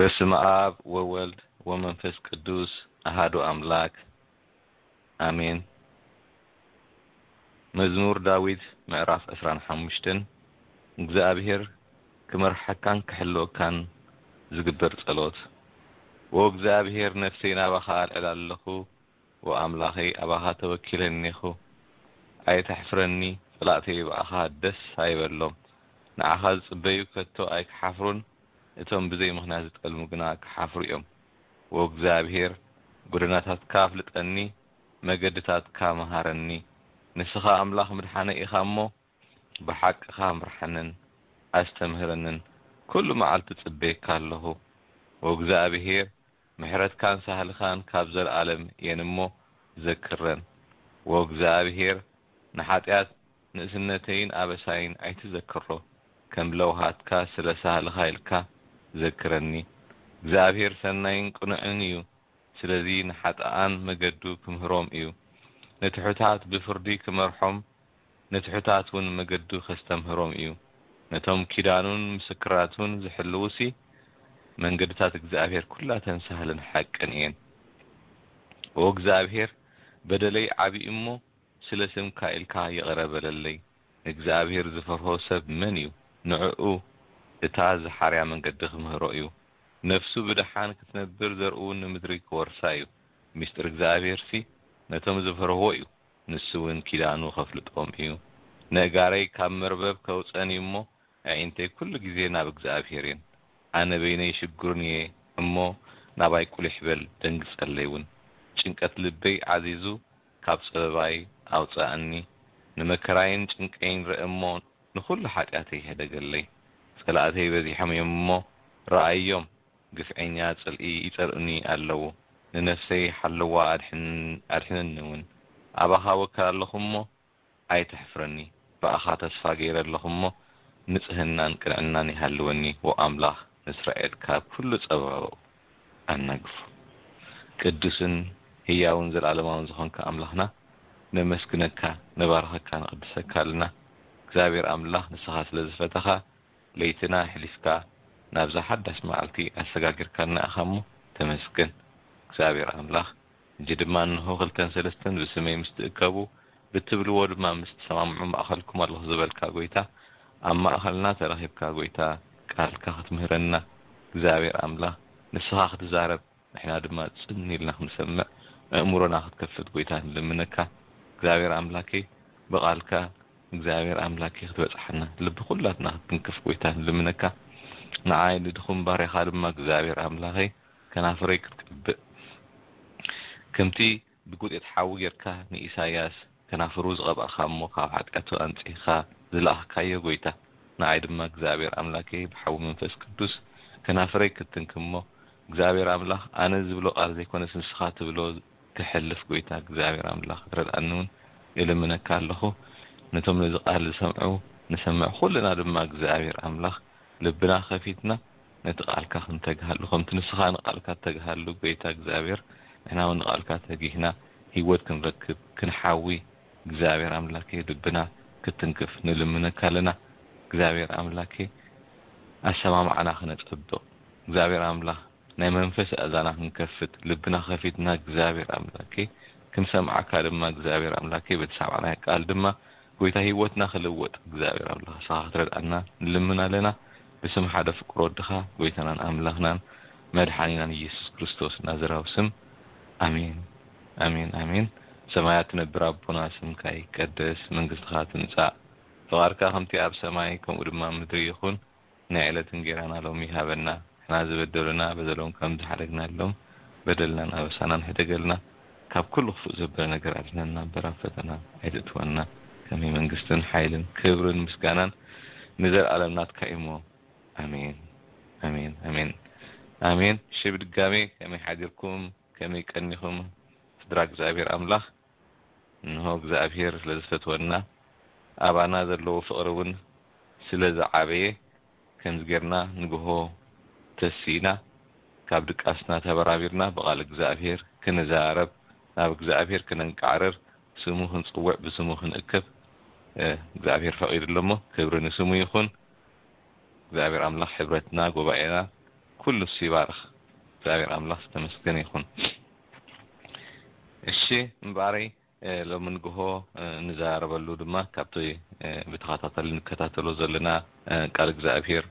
በስመ ኣብ ወወልድ ወመንፈስ ቅዱስ ኣሃዱ ኣምላክ ኣሜን። መዝሙር ዳዊት ምዕራፍ ዕስራን ሓሙሽተን። እግዚኣብሔር ክመርሓካን ክሕልወካን ዝግበር ጸሎት። ኦ እግዚኣብሔር፣ ነፍሰይ ናባኻ ኣልዕላ ኣለኹ። ኦ ኣምላኸይ፣ ኣባኻ ተወኪለ እኔኹ። ኣይተሕፍረኒ፣ ጸላእተይ ብኣኻ ደስ ኣይበሎም። ንዓኻ ዝጽበዩ ከቶ ኣይክሓፍሩን፣ እቶም ብዘይ ምኽንያት ዝጠልሙ ግና ክሓፍሩ እዮም። ኦ እግዚኣብሔር፣ ጎደናታትካ ኣፍልጠኒ፣ መገድታትካ መሃረኒ። ንስኻ ኣምላኽ ምድሓነይ ኢኻ እሞ፣ ብሓቅኻ ምርሓንን ኣስተምህረንን፣ ኩሉ መዓልቲ ጽበየካ ኣለኹ። ኦ እግዚኣብሔር፣ ምሕረትካን ሳህልኻን ካብ ዘለኣለም እየን እሞ ዘክረን። ኦ እግዚኣብሔር፣ ንሓጢኣት ንእስነተይን ኣበሳይን ኣይትዘክሮ። ከም ለውሃትካ ስለ ሳህልኻ ኢልካ ዘክረኒ። እግዚኣብሔር ሰናይን ቅኑዕን እዩ። ስለዚ ንሓጥኣን መገዱ ክምህሮም እዩ። ንትሑታት ብፍርዲ ክመርሖም፣ ንትሑታት እውን መገዱ ከስተምህሮም እዩ። ነቶም ኪዳኑን ምስክራቱን ዝሕልዉሲ፣ መንገድታት እግዚኣብሔር ኩላተን ሳህልን ሓቅን እየን። ኦ እግዚኣብሔር፣ በደለይ ዓቢ እሞ፣ ስለ ስምካ ኢልካ ይቕረ በለለይ። ንእግዚኣብሔር ዝፈርሆ ሰብ መን እዩ? ንዕኡ እታ ዝሓርያ መንገዲ ክምህሮ እዩ። ነፍሱ ብደሓን ክትነብር፣ ዘርኡ ንምድሪ ክወርሳ እዩ። ምስጢር እግዚኣብሔርሲ ነቶም ዝፈርህዎ እዩ። ንሱ እውን ኪዳኑ ከፍልጦም እዩ። ነእጋረይ ካብ መርበብ ከውፀን እዩ እሞ፣ ኣዒንተይ ኩሉ ግዜ ናብ እግዚኣብሔር እየን። ኣነ በይነይ ሽግሩን እየ እሞ፣ ናባይ ቁሊሕ በል፣ ደንግጸለይ እውን። ጭንቀት ልበይ ዓዚዙ፣ ካብ ጸበባይ ኣውጽኣኒ። ንመከራይን ጭንቀይን ርእ እሞ፣ ንኹሉ ሓጢኣተይ ሕደገለይ። ጸላእተይ በዚሖም እዮም እሞ፣ ረኣዮም፣ ግፍዐኛ ጽልኢ ይጸልኡኒ ኣለዉ። ንነፍሰይ ሓልዋ፣ ኣድሕን-፣ ኣድሕነኒ እውን። ኣባኻ ወከል ኣለኹ እሞ፣ ኣይተሕፍረኒ። ብኣኻ ተስፋ ገይረ ኣለኹ እሞ፣ ንጽህናን ቅንዕናን ይሃልወኒ። ዎ ኣምላኽ ንእስራኤል ካብ ኩሉ ጸባብኡ ኣናግፉ። ቅዱስን ህያውን ዘለኣለማውን ዝኾንካ ኣምላኽና፣ ነመስግነካ፣ ነባርኸካ፣ ንቕድሰካ ኣለና። እግዚኣብሔር ኣምላኽ፣ ንስኻ ስለ ዝፈተኻ፣ ለይትና ኣሕሊፍካ ናብዛ ሓዳሽ መዓልቲ ኣሰጋጊርካና ኢኻ እሞ፣ ተመስገን። እግዚኣብሔር ኣምላኽ፣ ሕጂ ድማ እንሆ ክልተን ሰለስተን ብስመይ ምስ ትእከቡ፣ ብትብልዎ ድማ ምስ ትሰማምዑ፣ ማእኸልኩም ኣለኹ ዝበልካ ጎይታ፣ ኣብ ማእኸልና ተረኺብካ ጎይታ፣ ቃልካ ክትምህረና፣ እግዚኣብሔር ኣምላኽ፣ ንስኻ ክትዛረብ፣ ንሕና ድማ ጽን ኢልና ክንሰምዕ፣ ኣእምሮና ክትከፍት ጎይታ ንልምነካ። እግዚኣብሔር ኣምላከይ፣ ብቃልካ እግዚኣብሔር ኣምላከይ ክትበጽሓና፣ ልቢ ኩላትና ክትትንክፍ ጎይታ ንልምነካ። ንዓይ ንድኹም ባርያኻ ድማ እግዚኣብሔር ኣምላኸይ፣ ከናፍረይ ክትቀብእ፣ ከምቲ ብጉጤት ሓዊ ጌርካ ንኢሳያስ ከናፍሩ ዝቐባእካ እሞ፣ ካብ ሓጢኣቱ ኣንጺህካ ዝለኣኽካዮ ጎይታ፣ ንዓይ ድማ እግዚኣብሔር ኣምላከይ ብሓዊ መንፈስ ቅዱስ ከናፍረይ ክትትንክፍ እሞ፣ እግዚኣብሔር ኣምላኽ፣ ኣነ ዝብሎ ቃል ዘይኮነስ ንስኻ ትብሎ ክሕልፍ፣ ጎይታ እግዚኣብሔር ኣምላኽ ክትረድኣኒ እውን እልምነካ ኣለኹ። ነቶም ነዚ ቃል ዝሰምዑ ንሰምዕ ኩልና ድማ እግዚኣብሔር ኣምላኽ ልብና ከፊትና ነቲ ቃልካ ክንተግሃሉ፣ ከምቲ ንስኻ ንቃልካ እተግሃሉ፣ ጎይታ እግዚኣብሔር፣ ንሕና እውን ንቃልካ ተጊህና ህይወት ክንረክብ፣ ክንሓዊ፣ እግዚኣብሔር ኣምላከይ፣ ልብና ክትንክፍ ንልምነካ ኣለና። እግዚኣብሔር ኣምላከይ፣ ኣሰማምዓና ክነጸብቕ፣ እግዚኣብሔር ኣምላኽ፣ ናይ መንፈስ ኣእዛና ክንከፍት፣ ልብና ከፊትና እግዚኣብሔር ኣምላከይ፣ ክንሰምዓካ ድማ እግዚኣብሔር ኣምላከይ፣ በቲ ሰማዕናዮ ቃል ድማ ጎይታ ህይወትና ክልወጥ እግዚኣብሔር ኣምላኽ ንስኻ ክትረድኣና ንልምን ኣለና። ብስም ሓደ ፍቅር ወድኻ ጎይታናን ኣምላኽናን መድሓኒናን ኢየሱስ ክርስቶስ ናዝራዊ ስም፣ ኣሜን፣ ኣሜን፣ ኣሜን። ሰማያት ትነብር ኣቦና፣ ስምካ ይቀደስ፣ መንግስትኻ ትምጻእ፣ ፍቓድካ ከምቲ ኣብ ሰማይ ከምኡ ድማ ኣብ ምድሪ ይኹን። ናይ ዕለት እንጌራና ሎሚ ሃበና። ንሕና ዝበደሉና በደሎም ከም ዝሓደግናሎም በደልናን ኣበሳናን ሕደገልና። ካብ ኩሉ ክፉእ ዘበለ ነገር ኣድሕነና እምበር፣ ኣብ ፈተና ኣይትእትወና። ከመይ መንግስትን ሓይልን ክብርን ምስጋናን ንዘለኣለም ናትካ እዩ እሞ፣ ኣሜን፣ ኣሜን፣ ኣሜን፣ ኣሜን። እሺ፣ ብድጋሜ ከመይ ሓዲርኩም? ከመይ ቀኒኹም? ስድራ እግዚኣብሔር ኣምላኽ፣ እንሆ እግዚኣብሔር ስለ ዝፈትወና፣ ኣባና ዘለዎ ፍቕሪ እውን ስለ ዝዓበየ፣ ከምዚ ጌርና ንግሆ ተሲእና፣ ካብ ድቃስና ተበራቢርና፣ ብቓል እግዚኣብሔር ክንዛረብ፣ ናብ እግዚኣብሔር ክነንቃዕርር፣ ስሙ ክንጽውዕ፣ ብስሙ ክንእከብ፣ እ፣ እግዚኣብሔር ፈቒዱ ኣሎ እሞ፣ ክብሪ ንስሙ ይኹን። እግዚኣብሔር ኣምላኽ ሕብረትና፣ ጉባኤና፣ ኩሉ እሱ ይባርኽ። እግዚኣብሔር ኣምላኽ ዝተመስገነ ይኹን። እሺ፣ እምበኣረይ ሎሚ ንግሆ ንዛረበሉ ድማ ካብቲ ብተኸታተሊ ንከታተሎ ዘለና ቃል እግዚኣብሔር፣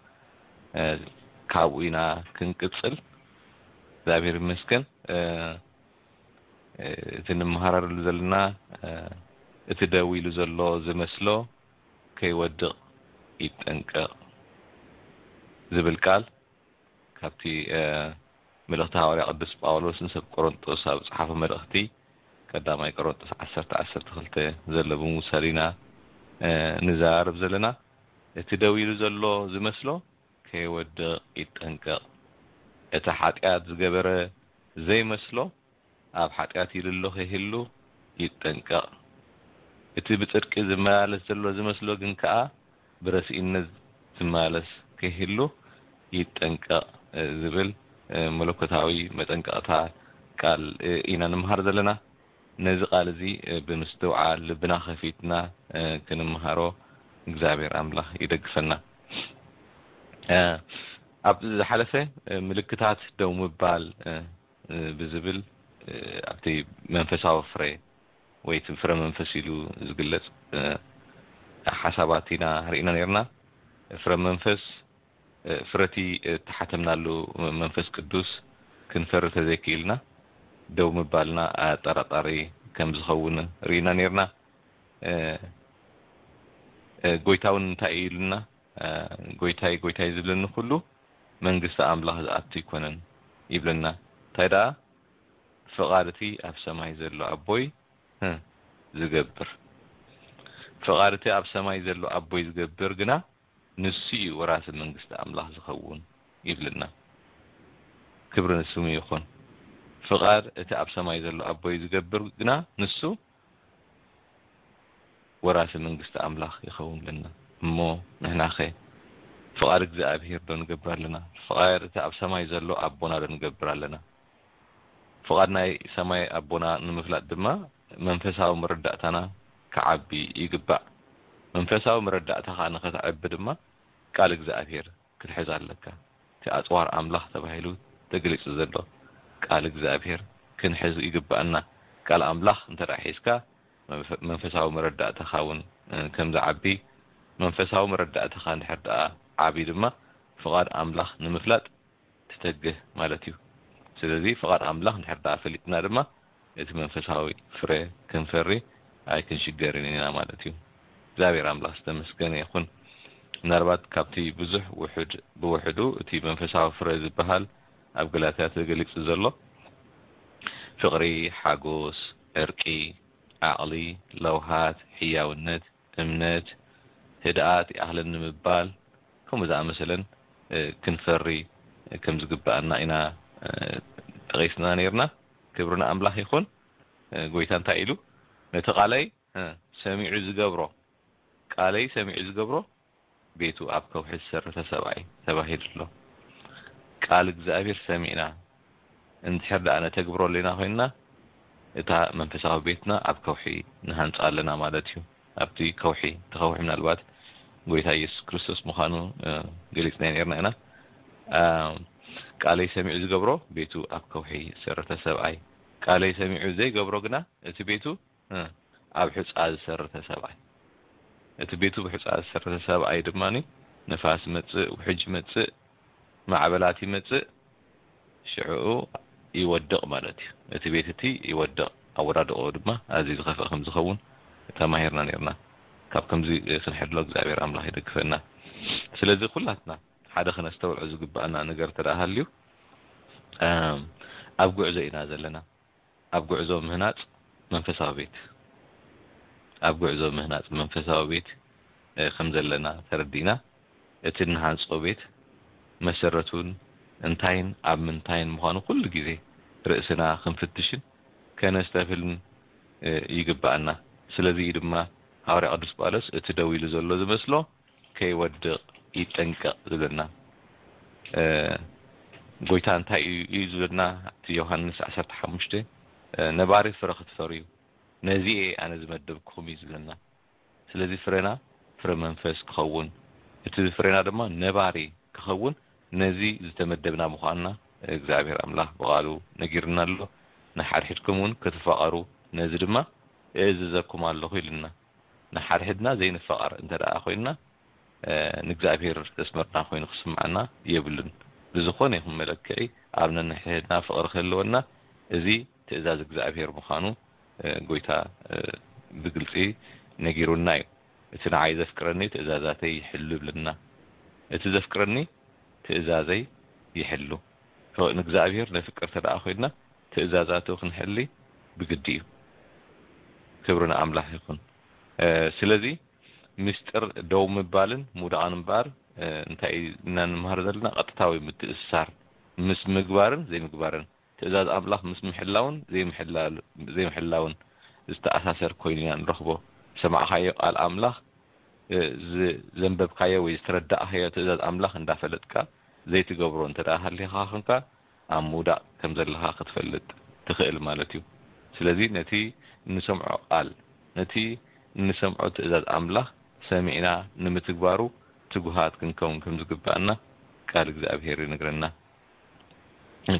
ካብኡ ኢና ክንቅፅል። እግዚኣብሔር ይመስገን። እቲ ንምሃረሉ ዘለና፣ እቲ ደው ኢሉ ዘሎ ዝመስሎ ከይወድቕ ይጠንቀቕ ዝብል ቃል ካብቲ መልእኽቲ ሃዋርያ ቅዱስ ጳውሎስ ንሰብ ቆሮንጦስ ኣብ ጸሓፎ መልእኽቲ፣ ቀዳማይ ቆሮንጦስ ዓሰርተ ዓሰርተ ክልተ ዘሎ ብምውሳድ ኢና ንዛረብ ዘለና። እቲ ደው ኢሉ ዘሎ ዝመስሎ ከይወድቕ ይጠንቀቕ። እቲ ሓጢኣት ዝገበረ ዘይመስሎ ኣብ ሓጢኣት ይልሎ ከይህሉ ይጠንቀቕ። እቲ ብጽድቂ ዝመላለስ ዘሎ ዝመስሎ ግን ከኣ ብረስኢነት ዝመላለስ ከይህሉ ይጠንቀቕ ዝብል መለኮታዊ መጠንቀቕታ ቃል ኢና ንምሃር ዘለና። ነዚ ቃል እዚ ብምስትውዓል ልብና ከፊትና ክንምሃሮ እግዚኣብሔር ኣምላኽ ይደግፈና። ኣብ ዝሓለፈ ምልክታት ደው ምባል ብዝብል ኣብቲ መንፈሳዊ ፍረ ወይ እቲ ፍረ መንፈስ ኢሉ ዝግለጽ ሓሳባት ኢና ርኢና ነርና። ፍረ መንፈስ ፍረቲ እተሓተምናሉ መንፈስ ቅዱስ ክንፈሪ ተዘይክኢልና ደው ምባልና ኣጠራጣሪ ከም ዝኸውን ርኢና ነርና። ጎይታ እውን እንታይ እዩ ኢሉና? ጎይታይ ጎይታይ ዝብለኒ ኩሉ መንግስቲ ኣምላኽ ዝኣቱ ኣይኮነን ይብለና። እንታይ ደኣ ፍቓድ እቲ ኣብ ሰማይ ዘሎ ኣቦይ ዝገብር፣ ፍቓድ እቲ ኣብ ሰማይ ዘሎ ኣቦይ ዝገብር ግና ንሱ እዩ ወራሲ መንግስቲ ኣምላኽ ዝኸውን ይብለና። ክብሪ ንስሙ ይኹን። ፍቓድ እቲ ኣብ ሰማይ ዘሎ ኣቦይ ዝገብር ግና ንሱ ወራሲ መንግስቲ ኣምላኽ ይኸውን ኣለና። እሞ ንሕናኸ ፍቓድ እግዚኣብሔር ዶ ንገብር ኣለና? ፍቓድ እቲ ኣብ ሰማይ ዘሎ ኣቦና ዶ ንገብር ኣለና? ፍቓድ ናይ ሰማይ ኣቦና ንምፍላጥ ድማ መንፈሳዊ መረዳእታና ክዓቢ ይግባእ። መንፈሳዊ መረዳእታኻ ንኸተዕቢ ድማ ቃል እግዚኣብሔር ክትሕዝ ኣለካ። እቲ ኣጽዋር ኣምላኽ ተባሂሉ ተገሊጹ ዘሎ ቃል እግዚኣብሔር ክንሕዝ ይግባኣና። ቃል ኣምላኽ እንተ ደኣ ሒዝካ መንፈሳዊ መረዳእታኻ እውን ከም ዝዓቢ፣ መንፈሳዊ መረዳእታኻ እንድሕር ደኣ ዓቢ ድማ ፍቓድ ኣምላኽ ንምፍላጥ ትተግህ ማለት እዩ። ስለዚ ፍቓድ ኣምላኽ እንድሕር ደኣ ፈሊጥና ድማ እቲ መንፈሳዊ ፍረ ክንፈሪ ኣይክንሽገርን ኢና ማለት እዩ። እግዚኣብሔር ኣምላኽ ዝተመስገነ ይኹን። ምናልባት ካብቲ ብዙሕ ውሑድ ብውሕዱ እቲ መንፈሳዊ ፍረ ዝበሃል ኣብ ገላትያ ተገሊጹ ዘሎ ፍቕሪ፣ ሓጎስ፣ ዕርቂ፣ ዓቕሊ፣ ለውሃት፣ ሕያውነት፣ እምነት፣ ህድኣት፣ ይኣኽለኒ ምባል፣ ከምኡ ዝኣመሰለን ክንፈሪ ከም ዝግባኣና ኢና ጠቒስና ነይርና። ክብሪ ንኣምላኽ ይኹን። ጎይታ እንታይ ኢሉ? ነቲ ቃለይ ሰሚዑ ዝገብሮ፣ ቃለይ ሰሚዑ ዝገብሮ ቤቱ ኣብ ከውሒ ዝሰረተ ሰብኣይ ተባሂሉ ኣሎ። ቃል እግዚኣብሔር ሰሚዕና እንድሕር ደኣ ነተግብሮ ኣለና ኮይንና፣ እታ መንፈሳዊ ቤትና ኣብ ከውሒ ንሃንጻ ኣለና ማለት እዩ። ኣብቲ ከውሒ፣ እቲ ከውሒ ምናልባት ጎይታ ኢየሱስ ክርስቶስ ምዃኑ ገሊጽና ነርና ኢና። ቃለይ ሰሚዑ ዝገብሮ ቤቱ ኣብ ከውሒ ዝሰረተ ሰብኣይ፣ ቃለይ ሰሚዑ ዘይገብሮ ግና እቲ ቤቱ ኣብ ሑጻ ዝሰረተ ሰብኣይ፣ እቲ ቤቱ ብሑጻ ዝሰረተ ሰብኣይ ድማ ንፋስ ይመጽእ፣ ውሕጅ ይመጽእ፣ ማዕበላት ይመጽእ፣ ሽዕኡ ይወድቕ ማለት እዩ። እቲ ቤት እቲ ይወድቕ፣ ኣወዳድቆ ድማ ኣዝዩ ዝኸፍእ ከም ዝኸውን ተማሂርና ነርና። ካብ ከምዚ ክንሕድሎ እግዚኣብሔር ኣምላኽ ይደግፈና። ስለዚ ኩላትና ሓደ ክነስተውዕሎ ዝግባኣና ነገር ተደኣ ሃልዩ፣ ኣብ ጉዕዞ ኢና ዘለና። ኣብ ጉዕዞ ምህናጽ መንፈሳዊ ቤት፣ ኣብ ጉዕዞ ምህናጽ መንፈሳዊ ቤት ከም ዘለና ተረዲእና፣ እቲ እንሃንጾ ቤት መሰረቱን እንታይን ኣብ ምንታይን ምዃኑ ኩሉ ግዜ ርእስና ክንፍትሽን ከነስተብህልን ይግባኣና። ስለዚ እዩ ድማ ሃዋርያ ቅዱስ ጳውሎስ እቲ ደው ኢሉ ዘሎ ዝመስሎ ከይወድቕ ይጠንቀቕ ዝብለና። ጎይታ እንታይ እዩ ዝብለና? እቲ ዮሃንስ ዓሰርተ ሓሙሽተ ነባሪ ፍረ ክትፈርዩ ነዚ እየ ኣነ ዝመደብኩም እዩ ዝብለና። ስለዚ ፍረና ፍረ መንፈስ ክኸውን፣ እቲ ፍረና ድማ ነባሪ ክኸውን ነዚ ዝተመደብና ምዃንና እግዚኣብሔር ኣምላኽ ብቓሉ ነጊርና ኣሎ። ንሓድሕድኩም እውን ክትፋቐሩ ነዚ ድማ እእዝዘኩም ኣለኹ ኢልና። ንሓድሕድና ዘይንፋቐር እንተ ደኣ ኮይንና ንእግዚኣብሔር ዘስመርና ኮይኑ ክስምዓና የብሉን። ብዝኾነ ይኹን መለክዒ ኣብ ነንሕድሕድና ፍቕሪ ክህልወና እዚ ትእዛዝ እግዚኣብሔር ምዃኑ ጎይታ ብግልጺ ነጊሩና እዩ። እቲ ንዓይ ዘፍቅረኒ ትእዛዛተይ ይሕሉ ይብለና። እቲ ዘፍቅረኒ ትእዛዘይ ይሕሉ። ንእግዚኣብሔር ነፍቅር ተደኣ ኮይንና ትእዛዛቱ ክንሕሊ ብግዲ እዩ። ክብሪ ንኣምላኽ ይኹን። ስለዚ ምስጢር ደው ምባልን ምውዳቕን እምበኣር እንታይ ኢና ንምሃር ዘለና? ቀጥታዊ ምትእስሳር ምስ ምግባርን ዘይምግባርን፣ ትእዛዝ ኣምላኽ ምስ ምሕላውን ዘይምሕላውን ዝተኣሳሰር ኮይኑ ኢና ንረኽቦ። ዝሰማዕካዮ ቃል ኣምላኽ፣ ዘንበብካዮ ወይ ዝተረዳእካዮ ትእዛዝ ኣምላኽ እንዳፈለጥካ ዘይትገብሮ እንተ ደኣ ሃሊኻ ኾንካ፣ ኣብ ምውዳቕ ከም ዘለኻ ክትፈልጥ ትኽእል ማለት እዩ። ስለዚ ነቲ እንሰምዖ ቃል፣ ነቲ እንሰምዖ ትእዛዝ ኣምላኽ ሰሚዕና ንምትግባሩ ትጉሃት ክንከውን ከም ዝግባኣና ቃል እግዚኣብሔር ይነግረና።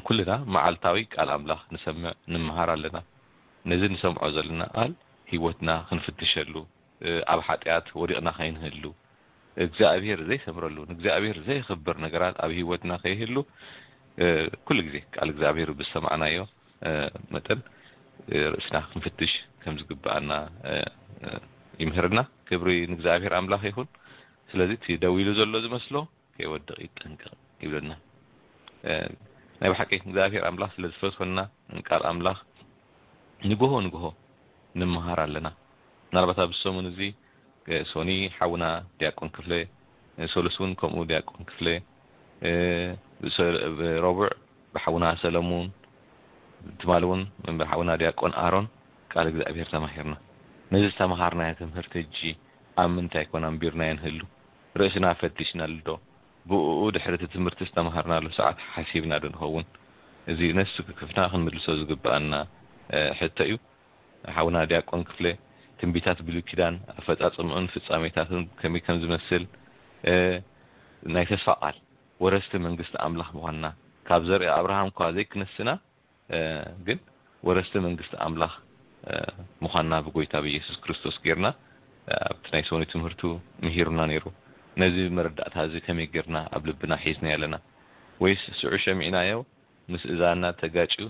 ኩልና መዓልታዊ ቃል ኣምላኽ ንሰምዕ፣ ንምሃር ኣለና። ነዚ ንሰምዖ ዘለና ቃል ህይወትና ክንፍትሸሉ፣ ኣብ ሓጢኣት ወዲቕና ከይንህሉ፣ እግዚኣብሔር ዘይሰምረሉ፣ ንእግዚኣብሔር ዘየኽብር ነገራት ኣብ ህይወትና ከይህሉ፣ ኩሉ ግዜ ቃል እግዚኣብሔር ብዝሰማዕናዮ መጠን ርእስና ክንፍትሽ ከም ዝግባኣና ይምህርና። ክብሪ ንእግዚኣብሔር ኣምላኽ ይኹን። ስለዚ እቲ ደው ኢሉ ዘሎ ዝመስሎ ከይወድቕ ይጠንቀቕ ይብለና። ናይ ብሓቂ እግዚኣብሔር ኣምላኽ ስለ ዝፈትወና ቃል ኣምላኽ ንግሆ ንግሆ ንምሃር ኣለና። ምናልባት ኣብዚ ሰሙን እዚ ሶኒ ሓውና ዲያቆን ክፍለ፣ ሶሉስ እውን ከምኡ ዲያቆን ክፍለ፣ ረቡዕ ብሓውና ሰለሙን፣ ትማሊ እውን ብሓውና ዲያቆን ኣሮን ቃል እግዚኣብሔር ተማሂርና። ነዚ ዝተምሃርናዮ ትምህርቲ ሕጂ ኣብ ምንታይ ኮን ኣንቢርናዮ ንህሉ? ርእስና ፈቲሽናሉ ዶ? ብእኡ ድሕሪ እቲ ትምህርቲ ዝተምሃርናሉ ሰዓት ሓሲብና ዶ ንኸውን? እዚ ነፍሲ ወከፍና ክንምልሶ ዝግብኣና ሕቶ እዩ። ሓውና ዲያቆን ክፍለ፣ ትንቢታት ብሉይ ኪዳን ኣፈጻጽምኡን ፍጻሜታቱን ከመይ ከም ዝመስል፣ ናይ ተስፋ ቃል ወረስቲ መንግስቲ ኣምላኽ ምዃንና፣ ካብ ዘርኢ ኣብርሃም እኳ ዘይክነስና ግን ወረስቲ መንግስቲ ኣምላኽ ምዃንና ብጎይታ ብኢየሱስ ክርስቶስ ጌርና ኣብቲ ናይ ሰሙን ትምህርቱ ምሂሩና ነይሩ። ነዚ መረዳእታ እዚ ከመይ ጌርና ኣብ ልብና ሒዝና ኣለና? ወይስ ስዑ ሸሚዕናዮ ምስ እዛና ተጋጭዩ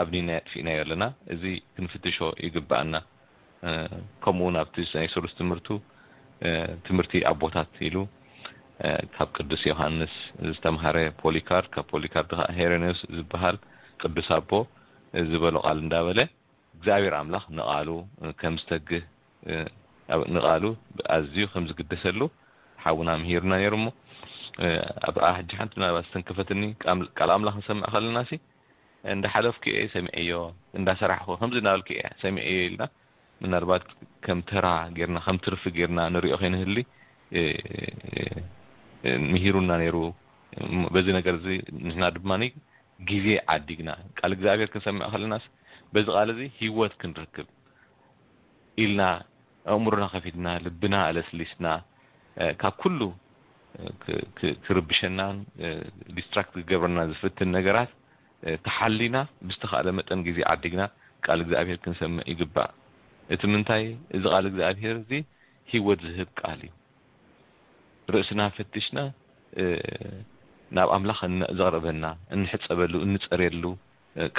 ኣብኒና የጥፊእናዮ ኣለና? እዚ ክንፍትሾ ይግባኣና። ከምኡ እውን ኣብቲ ናይ ሰሉስ ትምህርቱ ትምህርቲ ኣቦታት ኢሉ ካብ ቅዱስ ዮሃንስ ዝተምሃረ ፖሊካርድ፣ ካብ ፖሊካርድ ከዓ ሄሬኔዎስ ዝበሃል ቅዱስ ኣቦ ዝበሎ ቃል እንዳበለ እግዚኣብሔር ኣምላኽ ንቃሉ ከም ዝተግህ ንቃሉ ኣዝዩ ከም ዝግደሰሉ ሓውና ምሂሩና ነይሩ። እሞ ኣብ ሕጂ ሓንቲ ምናልባት ዝተንከፈትኒ ቃል ኣምላኽ ንሰምዕ ከለና ሲ እንዳ ሓለፍኩ እየ ሰሚዐዮ፣ እንዳ ሰራሕኩ ከምዚ እናበልኩ እየ ሰሚዐዮ ኢልና ምናልባት ከም ተራ ጌርና ከም ትርፊ ጌርና ንሪኦ ከይንህሊ ምሂሩና ነይሩ። በዚ ነገር እዚ ንሕና ድማ ግዜ ዓዲግና ቃል እግዚኣብሔር ክንሰምዕ ከለናስ በዚ ቃል እዚ ህይወት ክንረክብ ኢልና ኣእምሮና ከፊትና ልብና ኣለስሊስና ካብ ኩሉ ክርብሸናን ዲስትራክት ክገብረና ዝፍትን ነገራት ተሓሊና ብዝተኻእለ መጠን ግዜ ዓዲግና ቃል እግዚኣብሔር ክንሰምዕ ይግባእ። እቲ ምንታይ? እዚ ቃል እግዚኣብሔር እዚ ህይወት ዝህብ ቃል እዩ። ርእስና ፈቲሽና ናብ ኣምላኽ ዘቕርበና እንሕፀበሉ እንፀርየሉ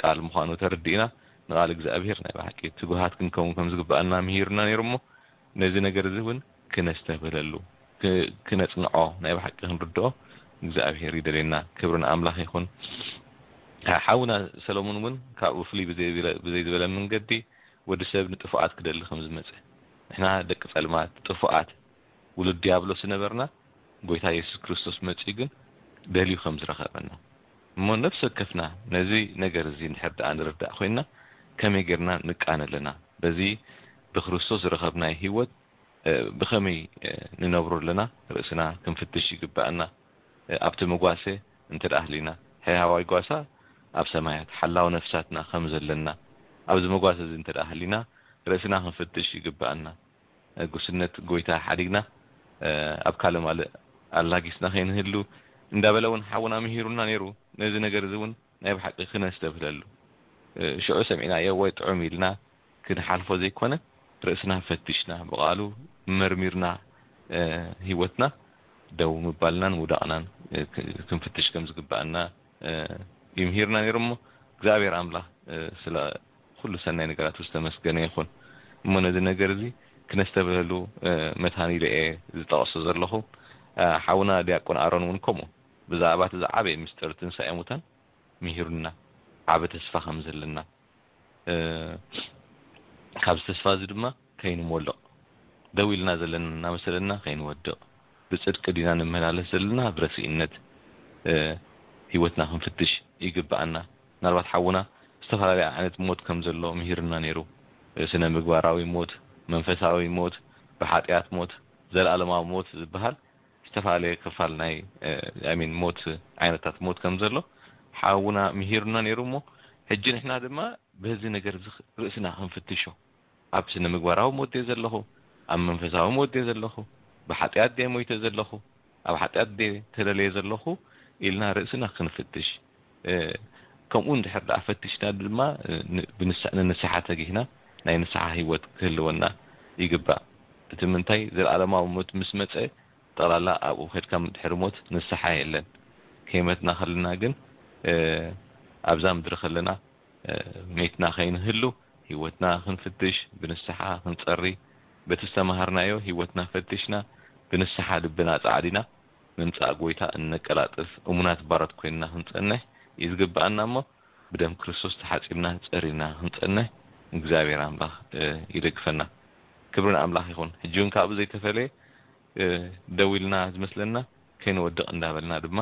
ቃል ምዃኑ ተረዲእና ንቃል እግዚኣብሔር ናይ ብሓቂ ትጉሃት ክንከውን ከም ዝግባኣና ምሂርና ነይሩ። እሞ ነዚ ነገር እዚ እውን ክነስተብህለሉ ክነፅንዖ ናይ ብሓቂ ክንርድኦ እግዚኣብሔር ይደልየና። ክብሪ ንኣምላኽ ይኹን። ሓውና ሰሎሞን እውን ካብኡ ፍልይ ብዘይ ዝበለ መንገዲ ወዲ ሰብ ንጥፉኣት ክደሊ ከም ዝመፀ ንሕና ደቂ ፀልማት ጥፉኣት ውሉድ ዲያብሎስ ዝነበርና ጎይታ የሱስ ክርስቶስ መጺኡ ግን ደልዩ ከም ዝረኸበና እሞ ነፍሲ ወከፍና ነዚ ነገር እዚ እንድሕር ደኣ ንርዳእ ኮይንና ከመይ ጌርና ንቃነ ኣለና? በዚ ብክርስቶስ ዝረኸብናይ ህይወት ብኸመይ ንነብሮ ኣለና? ርእስና ክንፍትሽ ይግባኣና። ኣብቲ መጓሰ እንተ ደኣ ህሊና ሕያዋይ ጓሳ ኣብ ሰማያት ሓላው ነፍሳትና ከም ዘለና ኣብዚ መጓሰ እዚ እንተ ደኣ ህሊና ርእስና ክንፍትሽ ይግባኣና። ጉስነት ጎይታ ሓዲግና ኣብ ካልእ ማልእ ኣላጊስና ከይንህሉ እንዳበለ እውን ሓውና ምሂሩና ነይሩ። ነዚ ነገር እዚ እውን ናይ ብሓቂ ክነስተብህለሉ፣ ሽዑ ሰሚዕናዮ ወይ ጥዑም ኢልና ክንሓልፎ ዘይኮነ፣ ርእስና ፈትሽና፣ ብቓሉ መርሚርና፣ ህይወትና ደው ምባልናን ምውዳቕናን ክንፍትሽ ከም ዝግባኣና ይምህርና ነይሩ። እሞ እግዚኣብሔር ኣምላኽ ስለ ኩሉ ሰናይ ነገራት ዝተመስገነ ይኹን። እሞ ነዚ ነገር እዚ ክነስተብህለሉ መታን ኢለ እየ ዝጠቕሶ ዘለኹ። ሓውና ዲያቆን ኣሮን እውን ከምኡ ብዛዕባ እቲ ዝዓበየ ምስጢር ትንሳኤ ሙታን ምሂሩና፣ ዓቢ ተስፋ ከም ዘለና፣ እ፣ ካብዚ ተስፋ እዚ ድማ ከይንሞልቕ፣ ደው ኢልና ዘለና እናመሰለና ከይንወድቕ፣ ብጽድቂ ዲና ንመላለስ ዘለና ብረስኢነት፣ እ፣ ህይወትና ክንፍትሽ ይግብኣና። ምናልባት ሓውና ዝተፈላለየ ዓይነት ሞት ከም ዘሎ ምሂርና ነይሩ። እ፣ ስነ ምግባራዊ ሞት፣ መንፈሳዊ ሞት፣ ብሓጢኣት ሞት፣ ዘለኣለማዊ ሞት ዝበሃል ዝተፈላለየ ክፋል ናይ፣ እ፣ I mean ሞት፣ ዓይነታት ሞት ከም ዘሎ ሓውና ምሂሩና ነይሩ። እሞ ሕጂ ንሕና ድማ በዚ ነገር እዚ ርእስና ክንፍትሾ፣ ኣብ ስነ ምግባራዊ ሞት ድየ ዘለኹ፣ ኣብ መንፈሳዊ ሞት ድየ ዘለኹ፣ ብሓጢኣት ድየ ሞይተ ዘለኹ፣ ኣብ ሓጢኣት ድየ ተደልየ ዘለኹ ኢልና ርእስና ክንፍትሽ፣ እ፣ ከምኡ እንድሕር ደኣ ፈቲሽና ድማ፣ እ፣ ን-፣ ብንስ-፣ ንንስሓ ተጊህና ናይ ንስሓ ህይወት ክህልወና ይግባእ። እቲ ምንታይ፣ ዘለኣለማዊ ሞት ምስ መጸ፣ ጠቕላላ ኣብኡ ከድካ ድሕሪ ሞት ንስሓ የለን። ከይመትና ከለና ግን፣ እ፣ ኣብዛ ምድሪ ከለና፣ እ፣ ሜትና ከይንህሉ፣ ህይወትና ክንፍትሽ፣ ብንስሓ ክንጸሪ፣ በቲ ዝተማሃርናዮ ህይወትና ፈቲሽና፣ ብንስሓ ልብና ጻዕዲና፣ ምምጻእ ጎይታ እነቀላጥፍ እሙናት ባሮት ኮይንና ክንጸንሕ እዩ ዝግብኣና። እሞ ብደም ክርስቶስ ተሓጺብና ጸሪና ክንጸንሕ እግዚኣብሔር ኣምላኽ፣ እ፣ ይደግፈና። ክብሪ ንኣምላኽ ይኹን። ሕጂ እውን ካብኡ ዘይተፈለየ፣ እ፣ ደው ኢልና ዝመስለና ከይንወድቕ እንዳበልና ድማ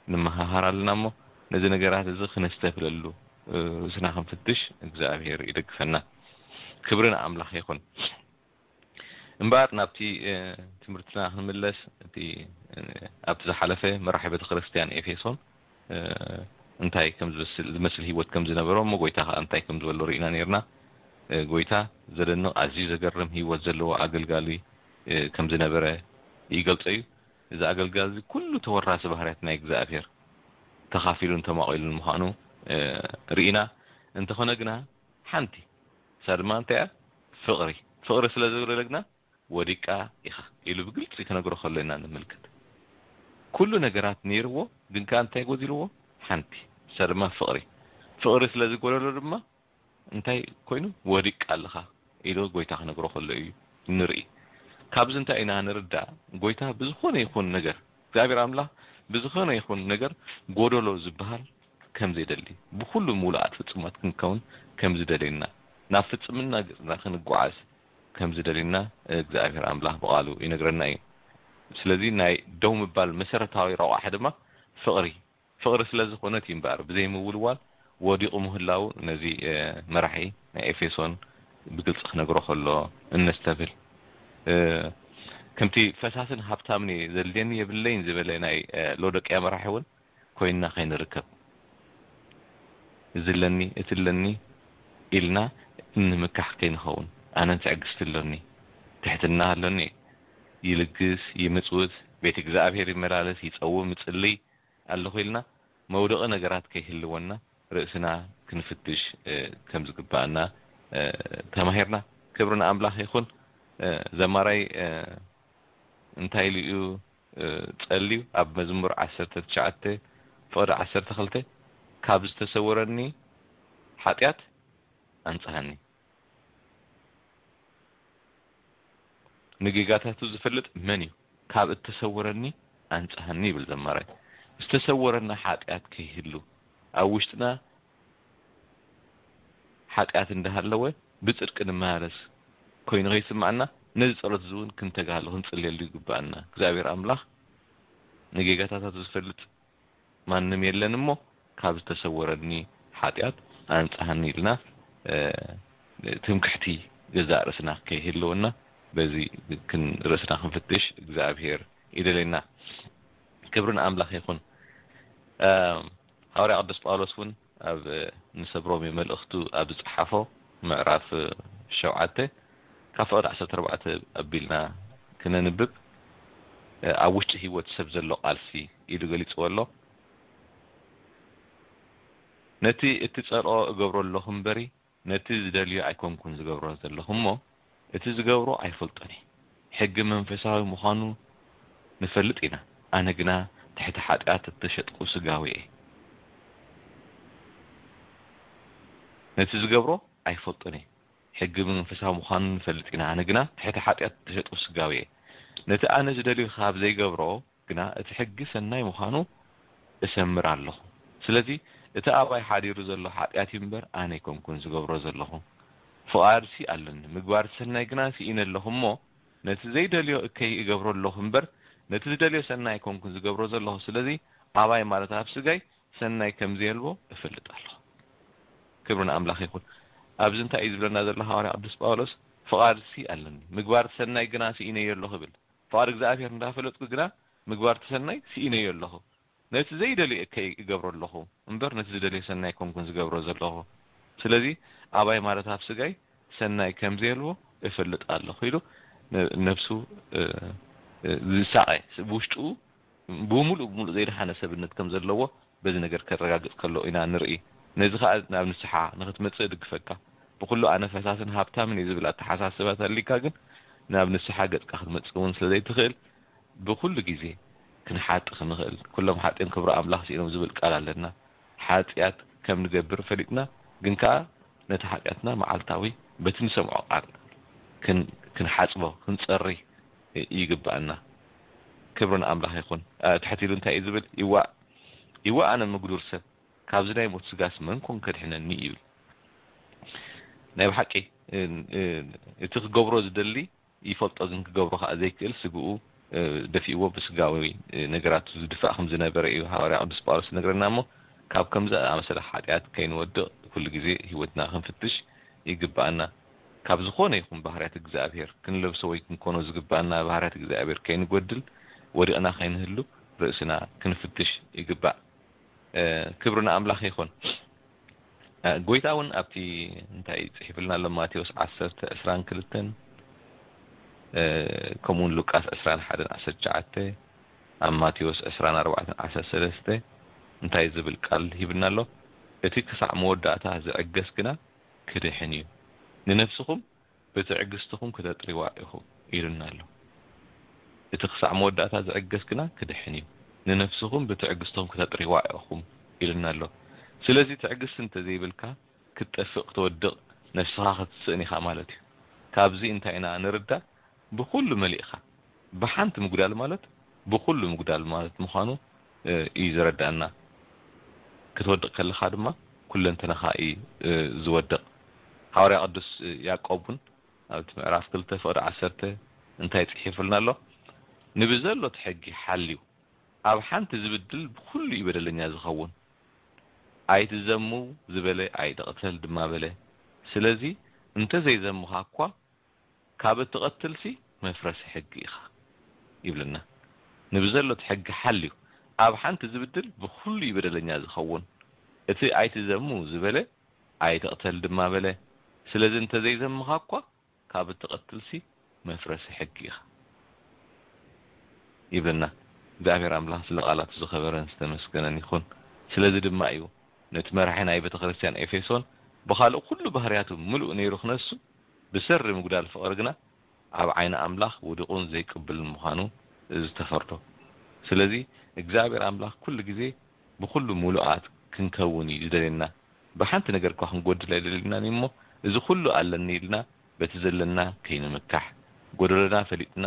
ንመሃሃር ኣለና። እሞ ነዚ ነገራት እዚ ክነስተብህለሉ፣ እ፣ ርእስና ክንፍትሽ እግዚኣብሔር ይደግፈና። ክብሪ ንኣምላኽ ይኹን። እምበኣር ናብቲ፣ እ፣ ትምህርትና ክንምለስ፣ እቲ፣ እ፣ ኣብቲ ዝሓለፈ መራሒ ቤተክርስትያን ኤፌሶን፣ እ፣ እንታይ ከም ዝመስል፣ ዝመስል ህይወት ከም ዝነበሮ፣ እሞ ጎይታ ከኣ እንታይ ከም ዝበሎ ርኢና ነይርና። እ፣ ጎይታ ዘደንቕ ኣዝዩ ዘገርም ህይወት ዘለዎ ኣገልጋሊ፣ እ፣ ከም ዝነበረ ይገልጾ እዩ። እዚ ኣገልጋሊ እዚ ኩሉ ተወራሲ ባህርያት ናይ እግዚኣብሔር ተኻፊሉን ተማቒሉን ምዃኑ፣ እ፣ ርኢና። እንተኾነ ግና ሓንቲ፣ እሳ ድማ እንታይ እያ? ፍቕሪ። ፍቕሪ ስለ ዝጎደለ ግና ወዲቃ ኢኻ ኢሉ ብግልጺ ክነግሮ ከሎ ኢና ንምልከት። ኩሉ ነገራት ነይርዎ፣ ግን ከኣ እንታይ ጎዲልዎ? ሓንቲ፣ እሳ ድማ ፍቕሪ። ፍቕሪ ስለ ዝጎደሎ ድማ እንታይ ኮይኑ? ወዲቃ ኣለኻ ኢሉ ጎይታ ክነግሮ ከሎ እዩ ንርኢ። ካብዚ እንታይ ኢና ንርዳእ? ጎይታ ብዝኾነ ይኹን ነገር፣ እግዚኣብሔር ኣምላኽ ብዝኾነ ይኹን ነገር ጎደሎ ዝበሃል ከም ዘይደሊ፣ ብኹሉ ምሉኣት ፍጹማት ክንከውን ከም ዝደልየና፣ ናብ ፍጽምና ገጽና ክንጓዓዝ ከም ዝደልየና እግዚኣብሔር ኣምላኽ ብቓሉ ይነግረና እዩ። ስለዚ ናይ ደው ምባል መሰረታዊ ረቋሒ ድማ ፍቕሪ፣ ፍቕሪ ስለ ዝኾነት እዩ እምበኣር ብዘይ ምውልዋል ወዲቑ ምህላው ነዚ፣ እ፣ መራሒ ናይ ኤፌሶን ብግልጺ ክነግሮ ከሎ እነስተብህል። እ፣ ከምቲ ፈሳስን ሃብታምን እየ ዘድልየኒ የብለይን ዝበለ ናይ፣ እ፣ ሎዶቅያ መራሒ እውን ኮይንና ከይንርከብ፣ እዚ ኣለኒ፣ እቲ ኣለኒ ኢልና እንምካሕ ከይንኸውን፣ ኣነን ትዕግስቲ ኣሎኒ፣ ትሕትና ኣሎኒ፣ ይልግስ፣ ይምጽውት፣ ቤት እግዚኣብሔር ይመላለስ፣ ይጸውም፣ ይጽልይ ኣለኹ ኢልና መውደቒ ነገራት ከይህልወና ርእስና ክንፍትሽ፣ እ፣ ከም ዝግባኣና፣ እ፣ ተማሂርና። ክብሪ ንኣምላኽ ይኹን። እ፣ ዘማራይ፣ እ፣ እንታይ ኢሉ እዩ፣ እ፣ ጸልዩ? ኣብ መዝሙር ዓሰርተ ትሽዓተ ፍቕዲ ዓሰርተ ክልተ፣ "ካብ ዝተሰወረኒ ሓጢኣት ኣንጽሃኒ፣ ንጌጋታቱ ዝፈልጥ መን እዩ? ካብ እተሰወረኒ ኣንጽሃኒ" ይብል ዘማራይ። ዝተሰወረና ሓጢኣት ከይህሉ፣ ኣብ ውሽጥና ሓጢኣት እንዳሃለወ ብጽድቂ ንመላለስ ኮይኑ ከይስምዓና፣ ነዚ ጸሎት እዚ እውን ክንተጋህሉ ክንጽልየሉ ይግብኣና። እግዚኣብሔር ኣምላኽ ንጌጋታታቱ ዝፈልጥ ማንም የለን እሞ፣ ካብ ዝተሰወረኒ ሓጢኣት ኣንጽሃኒ ኢልና፣ እ፣ ትምክሕቲ ገዛእ ርእስና ከይህልወና፣ በዚ ክን-፣ ርእስና ክንፍትሽ እግዚኣብሔር ይደልየና። ክብሪ ንኣምላኽ ይኹን። እ፣ ሃዋርያ ቅዱስ ጳውሎስ እውን ኣብ ንሰብ ሮሜ መልእኽቱ ኣብ ዝጸሓፎ ምዕራፍ ሸውዓተ ካብ ፍቕዲ ዓሰርተ ኣርባዕተ ኣቢልና ክነንብብ፣ ኣብ ውሽጢ ህይወት ሰብ ዘሎ ቃልሲ ኢሉ ገሊጽዎ ኣሎ። ነቲ እትጸልኦ እገብሮ ኣለኹ እምበሪ፣ ነቲ ዝደልዮ ኣይኮንኩን ዝገብሮ ዘለኹ እሞ፣ እቲ ዝገብሮ ኣይፈልጦን እየ። ሕጊ መንፈሳዊ ምዃኑ ንፈልጥ ኢና፣ ኣነ ግና ትሕቲ ሓጢኣት እተሸጥኩ ስጋዊ እየ። ነቲ ዝገብሮ ኣይፈልጦን እየ። ሕጊ መንፈሳዊ ምዃኑ ንፈልጥ ኢና፣ ኣነ ግና ትሕቲ ሓጢኣት እተሸጥኩ ስጋዊ እየ። ነቲ ኣነ ዝደልዮ ካብ ዘይገብሮ ግና እቲ ሕጊ ሰናይ ምዃኑ እሰምር ኣለኹ። ስለዚ እቲ ኣባይ ሓዲሩ ዘሎ ሓጢኣት እዩ እምበር ኣነ ኣይኮንኩን ዝገብሮ ዘለኹ። ፍቓድሲ ኣለኒ፣ ምግባር ሰናይ ግና ስኢነ ኣለኹ እሞ ነቲ ዘይደልዮ እከይ እገብሮ ኣለኹ እምበር ነቲ ዝደልዮ ሰናይ ኣይኮንኩን ዝገብሮ ዘለኹ። ስለዚ ኣባይ ማለት ኣብ ስጋይ ሰናይ ከም ዘየልቦ እፈልጥ ኣለኹ። ክብሪ ንኣምላኽ ይኹን። ኣብዚ እንታይ እዩ ዝብለና ዘሎ ሃዋርያ ቅዱስ ጳውሎስ? ፍቓድሲ ኣለኒ፣ ምግባር ሰናይ ግና ስኢነዮ ኣለኹ ይብል። ፍቓድ እግዚኣብሔር እንዳፈለጥኩ ግና ምግባር ሰናይ ስኢነዮ ኣለኹ። ነቲ ዘይደልዮ እከይ እገብሮ ኣለኹ እምበር ነቲ ዝደልዮ ሰናይ ኣይኮንኩን ዝገብሮ ዘለኹ። ስለዚ ኣባይ ማለት ኣብ ስጋይ ሰናይ ከም ዘየልቦ እፈልጥ ኣለኹ ኢሉ ነ-፣ ነፍሱ፣ እ፣ እ፣ ዝሳቐ፣ ብውሽጡ ብምሉእ ብምሉእ ዘይደሓነ ሰብነት ከም ዘለዎ በዚ ነገር ከረጋግጽ ከሎ ኢና ንርኢ። ነዚ ኸኣ ናብ ንስሓ ንኽትመጽእ እድግፈካ። ብኹሉ ኣነ ፈሳስን ሃብታምን እየ ዝብል ኣተሓሳስባ ተሊካ ግን ናብ ንስሓ ገጽካ ክትመጽእ እውን ስለ ዘይትኽእል ብኹሉ ግዜ ክንሓጢ ክንኽእል። ኩሎም ሓጢኦም ክብሪ ኣምላኽ ስኢኖም ዝብል ቃል ኣለና። ሓጢኣት ከም ንገብር ፈሊጥና ግን ከኣ ነቲ ሓጢኣትና መዓልታዊ በቲ ንሰምዖ ቃል ክን-፣ ክንሓጽቦ፣ ክንጸሪ ይግብኣና። ክብሪ ንኣምላኽ ይኹን። እ፣ ትሕት ኢሉ እንታይ እዩ ዝብል? ይዋእ፣ ይዋእ ኣነ ምጉዱር ሰብ፣ ካብዚ ናይ ሞት ስጋስ መን ኮን ከድሕነኒ ይብል። ናይ ብሓቂ፣ እ፣ እ፣ እቲ ክገብሮ ዝደሊ ይፈልጦ፣ ግን ክገብሮ ከኣ ዘይክእል ስግኡ፣ እ፣ ደፊእዎ ብስጋዊ፣ እ፣ ነገራቱ ዝድፋእ ከም ዝነበረ እዩ ሃዋርያ ቅዱስ ጳውሎስ ዝነግረና። እሞ ካብ ከምዚ ኣመሰለ ሓጢኣት ከይንወድቕ ኩሉ ግዜ ህይወትና ክንፍትሽ ይግብኣና። ካብ ዝኾነ ይኹን ባህርያት እግዚኣብሔር ክንለብሶ ወይ ክንኮኖ ዝግብኣና ባህርያት እግዚኣብሔር ከይንጎድል ወዲቕና ከይንህሉ ርእስና ክንፍትሽ ይግባእ። እ፣ ክብሪ ንኣምላኽ ይኹን። እ፣ ጎይታ እውን ኣብቲ እንታይ ጽሒፍልና ኣሎ? ማቴዎስ ዓሰርተ ዕስራን ክልተን፣ እ፣ ከምኡውን ሉቃስ ዕስራን ሓደን ዓሰርተ ትሽዓተ፣ ኣብ ማቴዎስ ዕስራን ኣርባዕተን ዓሰርተ ሰለስተ እንታይ ዝብል ቃል ሂብና ኣሎ? "እቲ ክሳዕ መወዳእታ ዝዕገስ ግና ክድሕን እዩ። ንነፍስኹም ብትዕግስትኹም ክተጥርዋ ኢኹም" ኢሉና ኣሎ። "እቲ ክሳዕ መወዳእታ ዝዕገስ ግና ክድሕን እዩ። ንነፍስኹም ብትዕግስትኹም ክተጥርዋ ኢኹም" ኢሉና ኣሎ። ስለዚ ትዕግስቲ እንተዘይብልካ ክትጠፍእ፣ ክትወድቕ፣ ነፍስኻ ክትስእን ኢኻ ማለት እዩ። ካብዚ እንታይ ኢና ንርዳእ? ብኹሉ መሊእኻ፣ ብሓንቲ ምጉዳል ማለት ብኹሉ ምጉዳል ማለት ምዃኑ፣ እ፣ እዩ ዘረዳእና። ክትወድቕ ከለኻ ድማ ኩለንተናኻ እዩ፣ እ፣ ዝወድቕ። ሃዋርያ ቅዱስ ያዕቆብ እውን ኣብቲ ምዕራፍ ክልተ ፍቕዲ ዓሰርተ እንታይ ጽሒፉልና ኣሎ? "ንብዘሎ እቲ ሕጊ ሓልዩ፣ ኣብ ሓንቲ ዝብድል ብኹሉ እዩ በደለኛ ዝኸውን። ኣይትዘሙ ዝበለ ኣይትቕተል ድማ በለ። ስለዚ እንተዘይዘምኻ እኳ ካብ እትቐትልሲ መፍረሲ ሕጊ ኢኻ" ይብለና። "ንብዘሎ እቲ ሕጊ ሓልዩ፣ ኣብ ሓንቲ ዝብድል ብኹሉ እዩ በደለኛ ዝኸውን። እቲ ኣይትዘሙ ዝበለ ኣይትቕተል ድማ በለ። ስለዚ እንተዘይዘምኻ እኳ ካብ እትቐትልሲ መፍረሲ ሕጊ ኢኻ" ይብለና። እግዚኣብሔር ኣምላኽ ስለ ቃላቱ ዝኸበረን ዝተመስገነን ይኹን። ስለዚ ድማ እዩ ነቲ መራሒ ናይ ቤተ ክርስቲያን ኤፌሶን ብኻልእ ኩሉ ባህርያቱ ምሉእ ነይሩ ክነሱ፣ ብሰሪ ምጉዳል ፍቕሪ ግና ኣብ ዓይኒ ኣምላኽ ውዱቕን ዘይቅብልን ምዃኑ ዝተፈርዶ። ስለዚ እግዚኣብሔር ኣምላኽ ኩሉ ግዜ ብኹሉ ምሉኣት ክንከውን እዩ ዝደልየና። ብሓንቲ ነገር እኳ ክንጎድል ኣይደልየናን እዩ እሞ፣ እዚ ኩሉ ኣለኒ ኢልና በቲ ዘለና ከይንምካሕ፣ ጎደሎና ፈሊጥና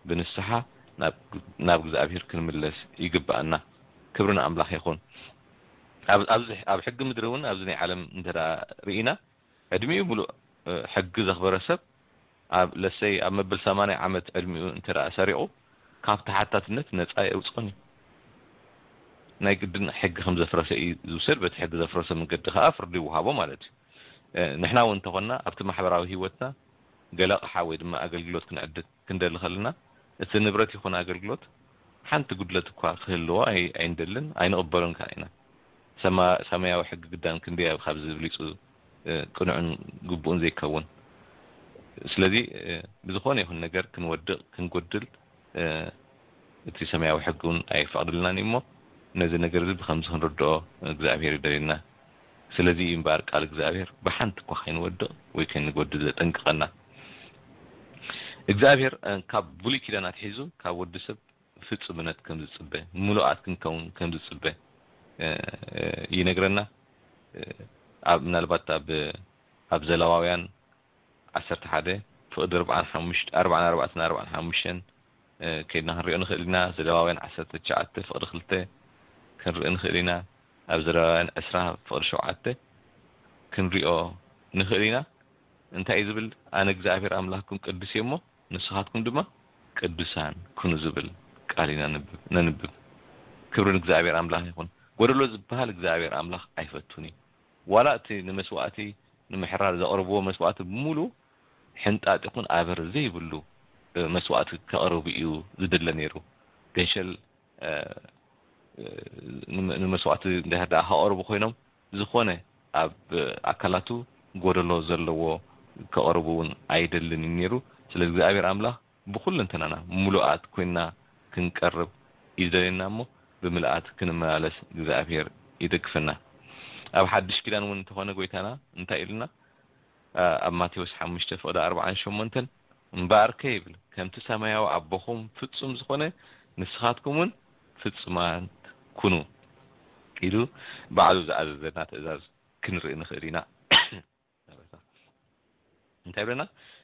ብንስሓ ናብ፣ ናብ እግዚኣብሔር ክንምለስ ይግብኣና። ክብሪ ንኣምላኽ ይኹን። ኣብ፣ ኣብዚ፣ ኣብ ሕጊ ምድሪ እውን ኣብዚ ናይ ዓለም እንተ ደኣ ርኢና፣ ዕድሚኡ ምሉእ፣ እ፣ ሕጊ ዘኽበረ ሰብ ኣብ፣ ለሰይ፣ ኣብ መበል ሰማንያ ዓመት ዕድሚኡ እንተ ደኣ ሰሪቑ፣ ካብ ተሓታትነት ነጻ የውጽኦን እዩ። ናይ ግድን ሕጊ ከም ዘፍረሰ እዩ ዝውሰድ፣ በቲ ሕጊ ዘፍረሰ መንገዲ ከኣ ፍርዲ ይወሃቦ ማለት እዩ። እ፣ ንሕና እውን እንተኾንና ኣብቲ ማሕበራዊ ህይወትና ገለ ኣቕሓ ወይ ድማ ኣገልግሎት ክንዕድግ ክንደሊ ከለና፣ እቲ ንብረት ይኹን ኣገልግሎት ሓንቲ ጉድለት እኳ ክህልዎ ኣይ-፣ ኣይንደልን፣ ኣይንቕበሎን ከኣ ኢና። ሰማ-፣ ሰማያዊ ሕጊ ግዳን ክንደይ ኣብ ካብዚ ብሊጹ፣ እ፣ ቅኑዕን ግቡእን ዘይከውን። ስለዚ፣ እ፣ ብዝኾነ ይኹን ነገር ክንወድቕ፣ ክንጎድል፣ እ፣ እቲ ሰማያዊ ሕጊ እውን ኣይፈቕድልናን እዩ። እሞ ነዚ ነገር እዚ ብኸምዚ ክንርድኦ እግዚኣብሔር ይደልየና። ስለዚ እዩ እምበኣር ቃል እግዚኣብሔር ብሓንቲ እኳ ከይንወድቕ ወይ ከይንጎድል ዘጠንቅቐና። እግዚኣብሔር ካብ ብሉይ ኪዳን ኣትሒዙ ካብ ወዲ ሰብ ፍጹምነት ከም ዝጽበ፣ ምሉኣት ክንከውን ከም ዝጽበ ይነግረና። ኣብ ምናልባት ኣብ ኣብ ዘለዋውያን ዓሰርተ ሓደ ፍቕዲ ኣርባዓን ሓሙሽተ ኣርባዓን ኣርባዕተን ኣርባዓን ሓሙሽተን ከይድና ክንሪኦ ንኽእል ኢና። ዘለዋውያን ዓሰርተ ትሽዓተ ፍቕዲ ክልተ ክንርኢ ንኽእል ኢና። ኣብ ዘለዋውያን ዕስራ ፍቕዲ ሸውዓተ ክንሪኦ ንኽእል ኢና። እንታይ እዩ ዝብል? ኣነ እግዚኣብሔር ኣምላኽኩም ቅዱስ እየ እሞ ንስኻትኩም ድማ ቅዱሳን ኩኑ ዝብል ቃል ኢና ነንብብ። ክብሪ ንእግዚኣብሔር ኣምላኽ ይኹን። ጎደሎ ዝበሃል እግዚኣብሔር ኣምላኽ ኣይፈቱን እዩ። ዋላ እቲ ንመስዋእቲ ንምሕራር ዘቕርብዎ መስዋእቲ ብምሉ ሕንጣጥ ይኹን ኣበር ዘይብሉ መስዋእቲ ከቕርቡ እዩ ዝድለ ነይሩ። ገንሸል ንመስዋእቲ እንድሕር ደኣ ከቕርቡ ኮይኖም ዝኾነ ኣብ ኣካላቱ ጎደሎ ዘለዎ ከቕርቡ እውን ኣይደልን እዩ ነይሩ። ስለ እግዚኣብሔር ኣምላኽ ብኩለንተናና ምሉኣት ኮይንና ክንቀርብ እዩ ዝደልየና እሞ ብምልኣት ክንመላለስ እግዚኣብሔር ይደግፈና። ኣብ ሓድሽ ኪዳን እውን እንተኾነ ጎይታና እንታይ ኢሉና? ኣብ ማቴዎስ ሓሙሽተ ፍቕዲ ኣርባዓን ሸሞንተን እምበኣርከ ይብል ከምቲ ሰማያዊ ኣቦኹም ፍጹም ዝኾነ ንስኻትኩም እውን ፍጹማት ኩኑ ኢሉ ባዕሉ ዝኣዘዘና ትእዛዝ ክንርኢ ንኽእል ኢና። እንታይ ብለና?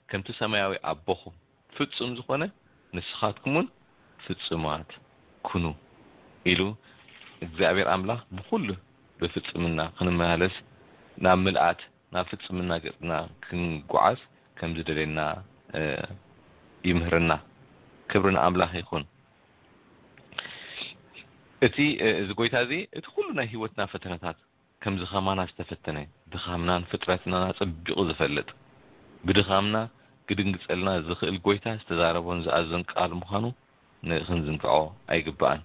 ከምቲ ሰማያዊ ኣቦኹም ፍጹም ዝኾነ ንስኻትኩም እውን ፍጹማት ኩኑ ኢሉ እግዚኣብሔር ኣምላኽ ብኩሉ ብፍጽምና ክንመላለስ ናብ ምልኣት ናብ ፍጽምና ገጽና ክንጓዓዝ ከም ዝደልየና ይምህርና። ክብሪ ንኣምላኽ ይኹን። እቲ እዚ ጎይታ እዚ እቲ ኩሉ ናይ ህይወትና ፈተነታት ከምዚ ከማና ዝተፈተነ ድኻምናን ፍጥረትናን ኣጸቢቑ ዝፈልጥ ብድኻምና ክድንግጸልና ዝኽእል ጎይታ ዝተዛረቦን ዝኣዘን ቃል ምዃኑ ክንዝንግዖ ኣይግባእን።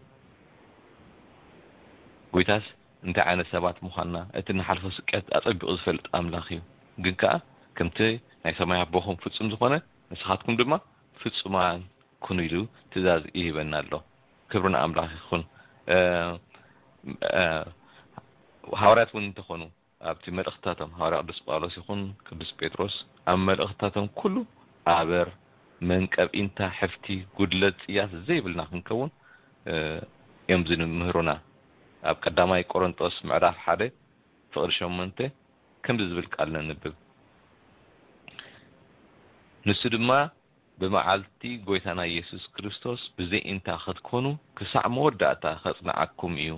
ጎይታስ እንታይ ዓይነት ሰባት ምዃንና እቲ ንሓልፎ ስቅያት ኣጸቢቑ ዝፈልጥ ኣምላኽ እዩ። ግን ከኣ ከምቲ ናይ ሰማይ ኣቦኹም ፍጹም ዝኾነ ንስኻትኩም ድማ ፍጹማን ኩኑ ኢሉ ትእዛዝ ይህበና ኣሎ። ክብሪ ንኣምላኽ ይኹን። ሃዋርያት እውን እንተኾኑ ኣብቲ መልእኽትታቶም ሃዋርያ ቅዱስ ጳውሎስ ይኹን ቅዱስ ጴጥሮስ ኣብ መልእኽትታቶም ኩሉ ኣበር መንቀብ ኢንታ ሕፍቲ ጉድለት ጽያፍ ዘይብልና ክንከውን እዮም ዝምህሩና። ኣብ ቀዳማይ ቆሮንጦስ ምዕራፍ ሓደ ፍቕዲ ሸሞንተ ከምዚ ዝብል ቃል ነንብብ። ንሱ ድማ ብመዓልቲ ጎይታና ኢየሱስ ክርስቶስ ብዘይ ኢንታ ክትኮኑ ክሳዕ መወዳእታ ከጽንዓኩም እዩ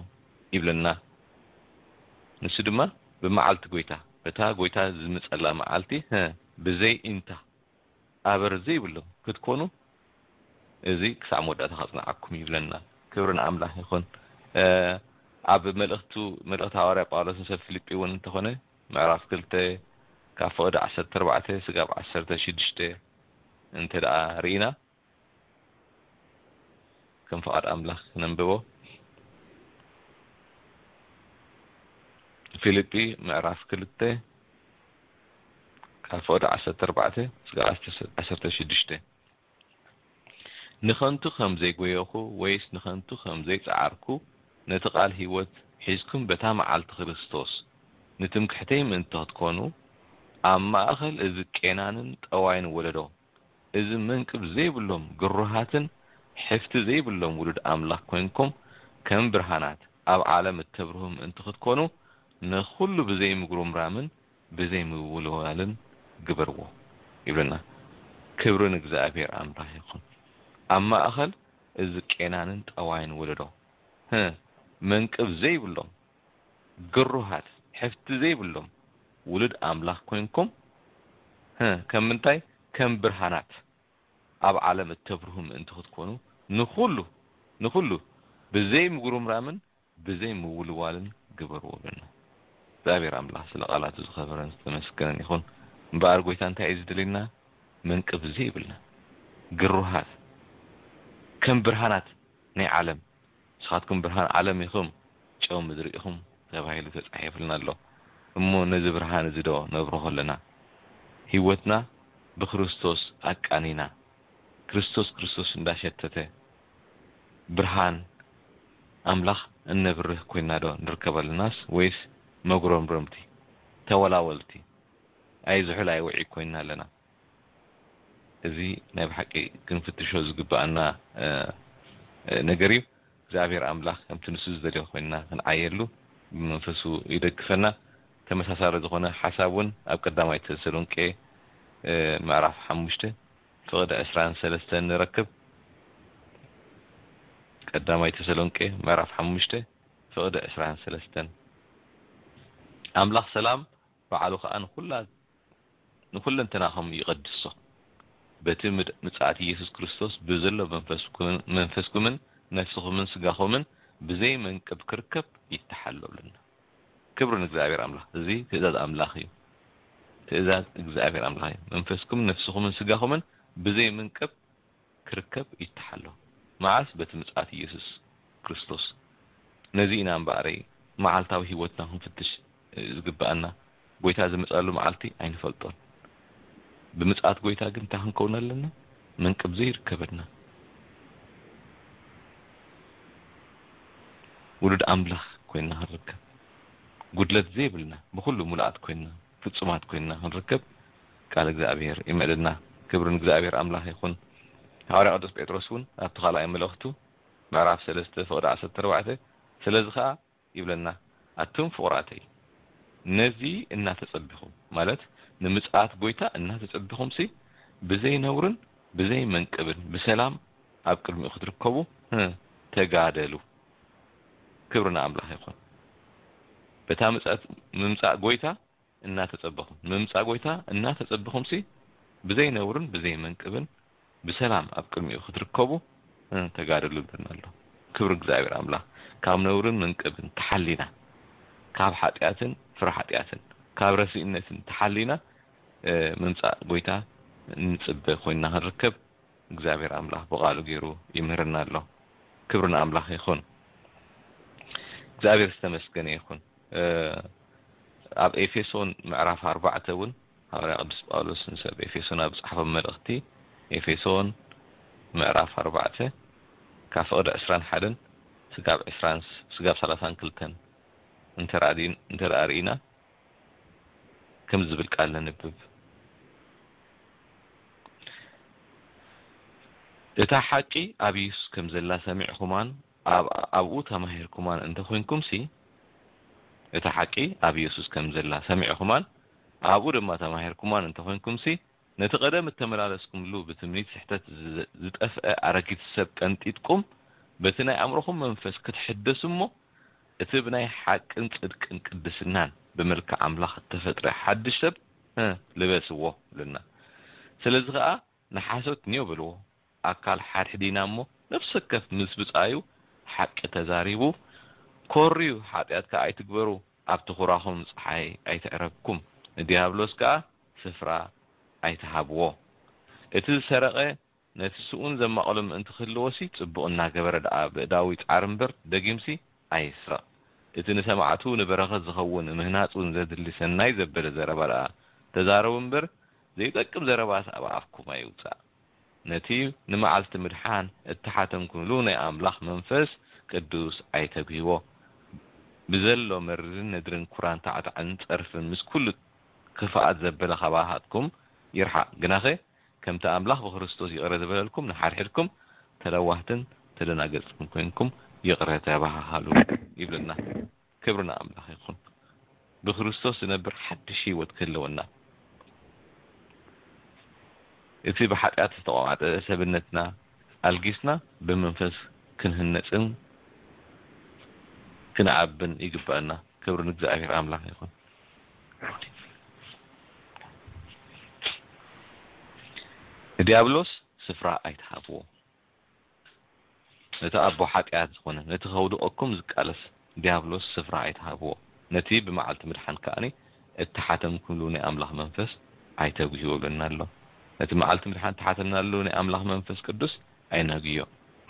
ይብለና። ንሱ ድማ ብመዓልቲ ጎይታ በታ ጎይታ ዝምጸላ መዓልቲ ብዘይ ኢንታ ኣበር ዘይብሎም ክትኮኑ እዚ ክሳዕ መወዳእታ ከጽንዓኩም ይብለና። ክብሪ ንኣምላኽ ይኹን። ኣብ መልእኽቱ መልእኽቲ ሃዋርያ ጳውሎስ ንሰብ ፊልጲ እውን እንተኾነ ምዕራፍ ክልተ ካብ ፍቕዲ ዓሰርተ ኣርባዕተ ስጋብ ዓሰርተ ሽዱሽተ እንተ ደኣ ርኢና ከም ፍቓድ ኣምላኽ ነንብቦ። ፊልጲ ምዕራፍ ክልተ ካብ ፍቕዲ ዓሰርተ ኣርባዕተ ስጋብ ዓሰርተ ሽዱሽተ ንኸንቱ ከም ዘይጎየኹ ወይስ ንኸንቱ ከም ዘይጸዓርኩ ነቲ ቃል ህይወት ሒዝኩም በታ መዓልቲ ክርስቶስ ንትምክሕተይ ምእንቲ ክትኮኑ ኣብ ማእኸል እዚ ቄናንን ጠዋይን ወለዶ እዚ መንቅብ ዘይብሎም ግሩሃትን ሕፍቲ ዘይብሎም ውሉድ ኣምላኽ ኮይንኩም ከም ብርሃናት ኣብ ዓለም እተብርሁ ምእንቲ ክትኮኑ ንኹሉ ብዘይምጉርምራምን ብዘይምውልዋልን ግበርዎ ይብለና። ክብሪ ንእግዚኣብሔር ኣምላኽ ይኹን። ኣብ ማእኸል እዚ ቄናንን ጠዋይን ወለዶ ህ መንቅብ ዘይብሎም ግሩሃት ሕፍቲ ዘይብሎም ውሉድ ኣምላኽ ኮይንኩም ህ ከም ምንታይ ከም ብርሃናት ኣብ ዓለም እተብርሁ ምእንቲ ክትኮኑ ንኹሉ ንኹሉ ብዘይ ምጉርምራምን ብዘይ ምውልዋልን ግበርዎ ብለና። እግዚኣብሔር ኣምላኽ ስለ ቃላቱ ዝኸበረን ዝተመስገነን ይኹን። እምበኣር ጎይታ እንታይ እዩ ዝደልየና? መንቅብ ዘይብልና ግሩሃት ከም ብርሃናት ናይ ዓለም ንስኻትኩም ብርሃን ዓለም ኢኹም ጨው ምድሪ ኢኹም ተባሂሉ ተጻሒፉልና ኣሎ። እሞ ነዚ ብርሃን እዚ ዶ ነብርሆ ኣለና? ህይወትና ብክርስቶስ ኣቃኒና ክርስቶስ ክርስቶስ እንዳሸተተ ብርሃን ኣምላኽ እነብርህ ኮይና ዶ ንርከብ ኣለናስ ወይስ መጉረምረምቲ፣ ተወላወልቲ፣ ኣይዝሑል ኣይውዒ ኮይና ኣለና? እዚ ናይ ብሓቂ ክንፍትሾ ዝግብኣና ነገር እዩ። እግዚኣብሔር ኣምላኽ ከምቲ ንሱ ዝደልዮ ኮይና ክንዓየሉ ብመንፈሱ ይደግፈና። ተመሳሳሊ ዝኾነ ሓሳብ እውን ኣብ ቀዳማይ ተሰሎንቄ ምዕራፍ ሓሙሽተ ፍቕዲ ዕስራን ሰለስተን ንረክብ። ቀዳማይ ተሰሎንቄ ምዕራፍ ሓሙሽተ ፍቕዲ ዕስራን ሰለስተን ኣምላኽ ሰላም ባዕሉ ኸኣ ንኹላ ንኹለንተናኹም ይቐድሶ። በቲ ምድ- ምጽኣት ኢየሱስ ክርስቶስ ብዘሎ መንፈስኩምን ነፍስኹምን ስጋኹምን ብዘይ መንቅብ ክርከብ ይተሓለሉና። ክብሪ ንእግዚኣብሔር ኣምላኽ። እዚ ትእዛዝ ኣምላኽ እዩ። ትእዛዝ እግዚኣብሔር ኣምላኽ እዩ። መንፈስኩም ነፍስኹምን ስጋኹምን ብዘይ መንቅብ ክርከብ ይተሓሎ። መዓስ? በቲ ምጽኣት ኢየሱስ ክርስቶስ። ነዚ ኢና እምበኣረይ መዓልታዊ ህይወትና ክንፍትሽ ዝግብኣና። ጎይታ ዝመጻሉ መዓልቲ ኣይንፈልጦን። ብምጽኣት ጎይታ ግን እንታይ ክንከውን ኣለና? መንቅብ ዘይርከበና ውሉድ ኣምላኽ ኮይና ክንርከብ፣ ጉድለት ዘይብልና ብኹሉ ሙሉኣት ኮይና ፍጹማት ኮይና ክንርከብ ቃል እግዚኣብሔር ይምዕድና። ክብሪ ንእግዚኣብሔር ኣምላኽ ይኹን። ሃዋርያ ቅዱስ ጴጥሮስ እውን ኣብቲ ካልኣይ መልእኽቱ ምዕራፍ ሰለስተ ፍቕዲ ዓሰርተ ኣርባዕተ ስለዚ ኸኣ ይብለና፣ ኣቱም ፍቑራተይ ነዚ እናተጸቢኹም፣ ማለት ንምጽኣት ጎይታ እናተጸቢኹምሲ ብዘይ ነውርን ብዘይ መንቅብን ብሰላም ኣብ ቅድሚኡ ክትርከቡ ተጋደሉ። ክብሪ ንኣምላኽ ይኹን። በታ ምምጻእ ጎይታ እናተጸበኹም፣ ምምጻእ ጎይታ እናተጸበኹምሲ ብዘይ ነውርን ብዘይ መንቅብን ብሰላም ኣብ ቅድሚኡ ክትርከቡ ተጋደሉ ይብለና ኣሎ። ክብሪ እግዚኣብሔር ኣምላኽ። ካብ ነውርን መንቅብን ተሓሊና፣ ካብ ሓጢኣትን ፍረ ሓጢኣትን ካብ ረሲእነትን ተሓሊና ምምጻእ ጎይታ እንጽበ ኮይና ክንርከብ እግዚኣብሔር ኣምላኽ ብቓሉ ገይሩ ይምህርና ኣሎ። ክብሪ ንኣምላኽ ይኹን። እግዚኣብሔር ዝተመስገነ ይኹን። ኣብ ኤፌሶን ምዕራፍ ኣርባዕተ እውን ሃዋርያ ቅዱስ ጳውሎስ ንሰብ ኤፌሶን ኣብ ዝጸሓፎም መልእኽቲ፣ ኤፌሶን ምዕራፍ ኣርባዕተ ካብ ፍቕዲ ዕስራን ሓደን ስጋብ ዕስራን ስጋብ ሰላሳን ክልተን እንተ ርኢና ከም ዝብል ቃል ነንብብ። እታ ሓቂ ኣብ ኢየሱስ ከም ዘላ ሰሚዕኩማን ኣብኡ ተማሂርኩማን እንተኾይንኩምሲ፣ እታ ሓቂ ኣብ ኢየሱስ ከም ዘላ ሰሚዕኩማን ኣብኡ ድማ ተማሂርኩማን እንተኾይንኩምሲ፣ ነቲ ቀደም እተመላለስኩምሉ ብትምኒት ስሕተት ዝጠፍአ ኣረጊት ሰብ ቀንጢጥኩም፣ በቲ ናይ ኣእምሮኹም መንፈስ ክትሕደሱ እሞ፣ እቲ ብናይ ሓቅን ጽድቅን ቅድስናን ብመልክዕ ኣምላኽ እተፈጥረ ሓድሽ ሰብ ልበስዎ ይብለና። ስለዚ ኸኣ ንሓሶት ኒዮ በልዎ። ኣካል ሓድሕዲና እሞ ነፍሲ ወከፍ ምስ ብጻዩ ሓቂ ተዛሪቡ፣ ኮርዩ፣ ሓጢኣት ከኣ ኣይትግበሩ፣ ኣብቲ ኹራኹም ጸሓይ ኣይትዕረብኩም፣ ንዲያብሎስ ከኣ ስፍራ ኣይትሃብዎ። እቲ ዝሰረቐ ነቲ ስኡን ዘማቐሎ ምእንቲ ክህልዎሲ ጽቡቕ እናገበረ ደኣ ብእዳዊ ጻዕሪ እምበር ደጊምሲ ኣይስረቕ። እቲ ንሰማዕቱ ንበረኸት ዝኸውን ምህናጽ እውን ዘድሊ ሰናይ ዘበለ ዘረባ ደኣ ተዛረቡ እምበር ዘይጠቅም ዘረባስ ኣብ ኣፍኩም ኣይውጻእ። ነቲ ንመዓልቲ ምድሓን እተሓተምኩምሉ ናይ ኣምላኽ መንፈስ ቅዱስ ኣይተግህይዎ። ብዘሎ መርርን ነድርን ኩራን ታዕታዕን ጸርፍን ምስ ኩሉ ክፍኣት ዘበለ ካባኻትኩም ይርሓቕ። ግናኸ ከምቲ ኣምላኽ ብክርስቶስ ይቕረ ዝበለልኩም ንሓድሕድኩም ተለዋህትን ተደናገጽትን ኮይንኩም ይቕረ ተባሃሃሉ ይብለና። ክብሪ ንኣምላኽ ይኹን። ብክርስቶስ ዝነብር ሓድሽ ህይወት ክህልወና፣ እቲ ብሓጢኣት ዝተቋዕጠ ሰብነትና ኣልጊስና ብመንፈስ ክንህነጽን ክንዓብን ይግባኣና። ክብሪ ንእግዚኣብሔር ኣምላኽ ይኹን። ንዲያብሎስ ስፍራ ኣይትሃብዎ። ነቲ ኣቦ ሓጢኣት ዝኾነ፣ ነቲ ከውድቐኩም ዝቃለስ ዲያብሎስ ስፍራ ኣይትሃብዎ። ነቲ ብመዓልቲ ምድሓን ከኣኒ እተሓተምኩምሉ ናይ ኣምላኽ መንፈስ ኣይተጉህይዎ ይብለና ኣሎ። ነቲ መዓልቲ ምድሓን እተሓተምናሉ ናይ ኣምላኽ መንፈስ ቅዱስ ኣይነግዮ።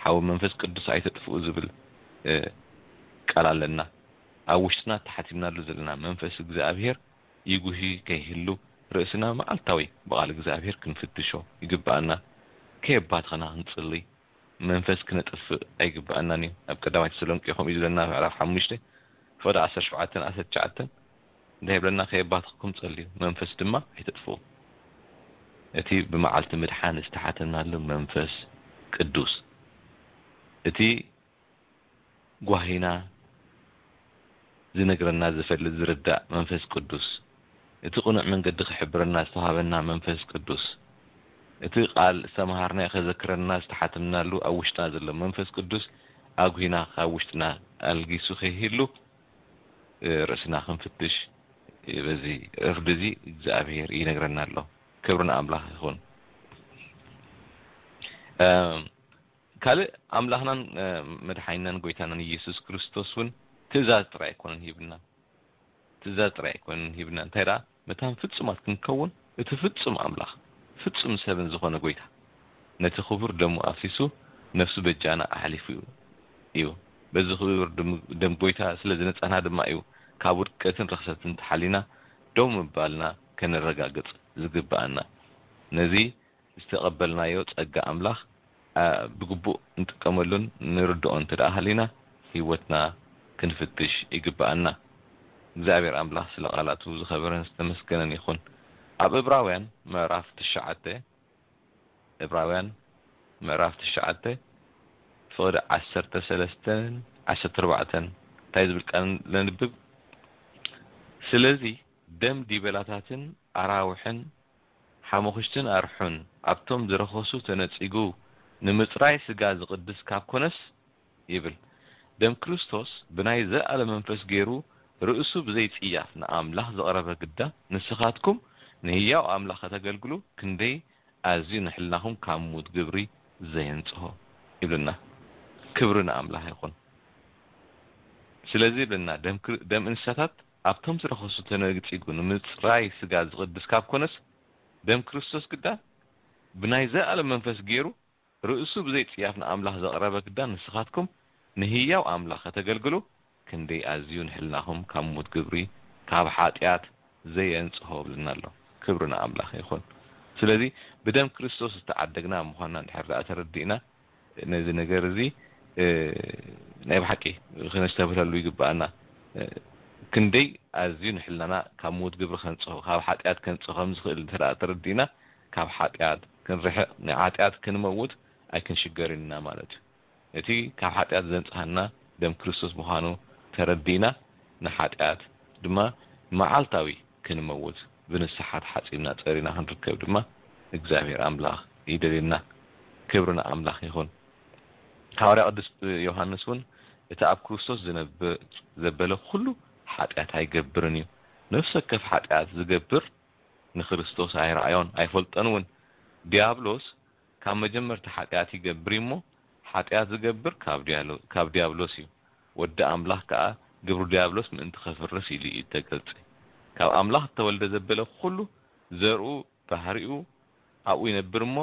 ሓዊ መንፈስ ቅዱስ ኣይተጥፍኡ ዝብል፣ እ፣ ቃል ኣለና። ኣብ ውሽጥና እተሓቲምናሉ ዘለና መንፈስ እግዚኣብሔር ይጉሂ ከይህሉ ርእስና መዓልታዊ ብቓል እግዚኣብሔር ክንፍትሾ ይግብኣና። ከየባተኸና ክንጽሊ፣ መንፈስ ክነጥፍእ ኣይግባኣናን እዩ። ኣብ ቀዳማይ ተሰሎንቄ ከምኡ እዩ ዝብለና፣ ምዕራፍ ሓሙሽተ ፍቕዲ ዓሰርተ ሸውዓተን ዓሰርተ ትሽዓተን እንታይ ይብለና? ከየባትኽኩም ጸልዩ፣ መንፈስ ድማ ኣይተጥፍኡ። እቲ ብመዓልቲ ምድሓን ዝተሓተናሉ መንፈስ ቅዱስ፣ እቲ ጓሂና ዝነግረና፣ ዝፈልጥ፣ ዝርዳእ መንፈስ ቅዱስ፣ እቲ ቅኑዕ መንገዲ ክሕብረና ዝተዋሃበና መንፈስ ቅዱስ፣ እቲ ቃል ዝተምሃርናዮ ከዘክረና ዝተሓተናሉ ኣብ ውሽጥና ዘሎ መንፈስ ቅዱስ ኣጉሂና ካብ ውሽጥና ኣልጊሱ ከይህሉ፣ እ፣ ርእስና ክንፍትሽ፣ እ፣ በዚ ዕርዲ እዚ እግዚኣብሔር ይነግረና ኣሎ። ክብሪ ንኣምላኽ ይኹን። እ፣ ካልእ ኣምላኽናን፣ እ፣ መድሓኒናን ጎይታናን ኢየሱስ ክርስቶስ እውን ትእዛዝ ጥራይ ኣይኮነን ሂብና። ትእዛዝ ጥራይ ኣይኮነን ሂብና። እንታይ ደኣ? መታን ፍጹማት ክንከውን እቲ ፍጹም ኣምላኽ፣ ፍጹም ሰብን ዝኾነ ጎይታ፣ ነቲ ክቡር ደሙ ኣፍሲሱ ነፍሱ በጃና ኣሕሊፉ እዩ። በዚ ክቡር ደም፣ ደም ጎይታ ስለ ዝነጻህና ድማ እዩ ካብ ውድቀትን ርኽሰትን ተሓሊና ደው ምባልና ከነረጋግጽ ዝግብኣና። ነዚ ዝተቐበልናዮ ጸጋ ኣምላኽ፣ ኣ፣ ብግቡእ ንጥቀመሉን ንርድኦ እንተ ደኣ ሃሊና፣ ህይወትና ክንፍትሽ ይግብኣና። እግዚኣብሔር ኣምላኽ ስለ ቃላቱ ዝኸበረን ዝተመስገነን ይኹን። ኣብ ዕብራውያን ምዕራፍ ትሽዓተ፣ ዕብራውያን ምዕራፍ ትሽዓተ ፍቕዲ ዓሰርተ ሰለስተን ዓሰርተ ኣርባዕተን እንታይ ዝብል ቃል ለንብብ? ስለዚ ደም ዲበላታትን ኣራውሕን ሓሙኽሽትን ኣርሑን ኣብቶም ዝረኸሱ ተነጺጉ ንምጽራይ ስጋ ዝቕድስ ካብ ኮነስ ይብል። ደም ክርስቶስ ብናይ ዘኣለ መንፈስ ገይሩ ርእሱ ብዘይ ጽያፍ ንኣምላኽ ዘቕረበ ግዳ ንስኻትኩም ንህያው ኣምላኽ ከተገልግሉ ክንደይ ኣዝዩ ንሕልናኹም ካብ ምዉት ግብሪ ዘየንጽሆ ይብልና። ክብሪ ንኣምላኽ ይኹን። ስለዚ ይብልና ደም ክር-፣ ደም እንስሳታት ኣብቶም ዝረኸሱ ተነጺጉ ንምጽራይ ስጋ ዝቕድስ ካብ ኮነስ ደም ክርስቶስ ግዳ ብናይ ዘኣለ መንፈስ ገይሩ ርእሱ ብዘይ ጽያፍ ንኣምላኽ ዘቕረበ ግዳ ንስኻትኩም ንህያው ኣምላኽ ከተገልግሉ ክንደይ ኣዝዩ ንሕልናኹም ካብ ምዉት ግብሪ ካብ ሓጢኣት ዘየንጽሆ ብልና ኣሎ። ክብሪ ንኣምላኽ ይኹን። ስለዚ ብደም ክርስቶስ ዝተዓደግና ምዃንና እንድሕር ደኣ ተረዲእና ነዚ ነገር እዚ፣ እ፣ ናይ ብሓቂ ክነስተብህለሉ ይግብኣና። እ፣ ክንደይ ኣዝዩ ንሕልናና ካብ ምዉት ግብሪ ከንጽሆ፣ ካብ ሓጢኣት ከንጽሆ ከም ዝኽእል እንተ ደኣ ተረዲእና፣ ካብ ሓጢኣት ክንርሕቕ፣ ንሓጢኣት ክንመውት ኣይክንሽገርን ኢና ማለት እዩ። እቲ ካብ ሓጢኣት ዘንጽሃና ደም ክርስቶስ ምዃኑ ተረዲእና፣ ንሓጢኣት ድማ መዓልታዊ ክንመውት ብንስሓ ተሓጺብና ጸሪና ክንርከብ ድማ እግዚኣብሔር ኣምላኽ ይደልየና። ክብሪ ንኣምላኽ ይኹን። ሃዋርያ ቅዱስ ዮሃንስ እውን እቲ ኣብ ክርስቶስ ዝነብር ዘበለ ኩሉ ሓጢኣት ኣይገብርን እዩ። ነፍሲ ወከፍ ሓጢኣት ዝገብር ንክርስቶስ ኣይረኣዮን ኣይፈልጦን እውን። ዲያብሎስ ካብ መጀመርታ ሓጢኣት ይገብር እዩ እሞ፣ ሓጢኣት ዝገብር ካብ ዲያሎ-፣ ካብ ዲያብሎስ እዩ። ወዲ ኣምላኽ ከኣ ግብሪ ዲያብሎስ ምእንቲ ኸፍርስ ኢሉ እዩ እተገልጸ። ካብ ኣምላኽ እተወልደ ዘበለ ኹሉ ዘርኡ ባህሪኡ ኣብኡ ይነብር እሞ፣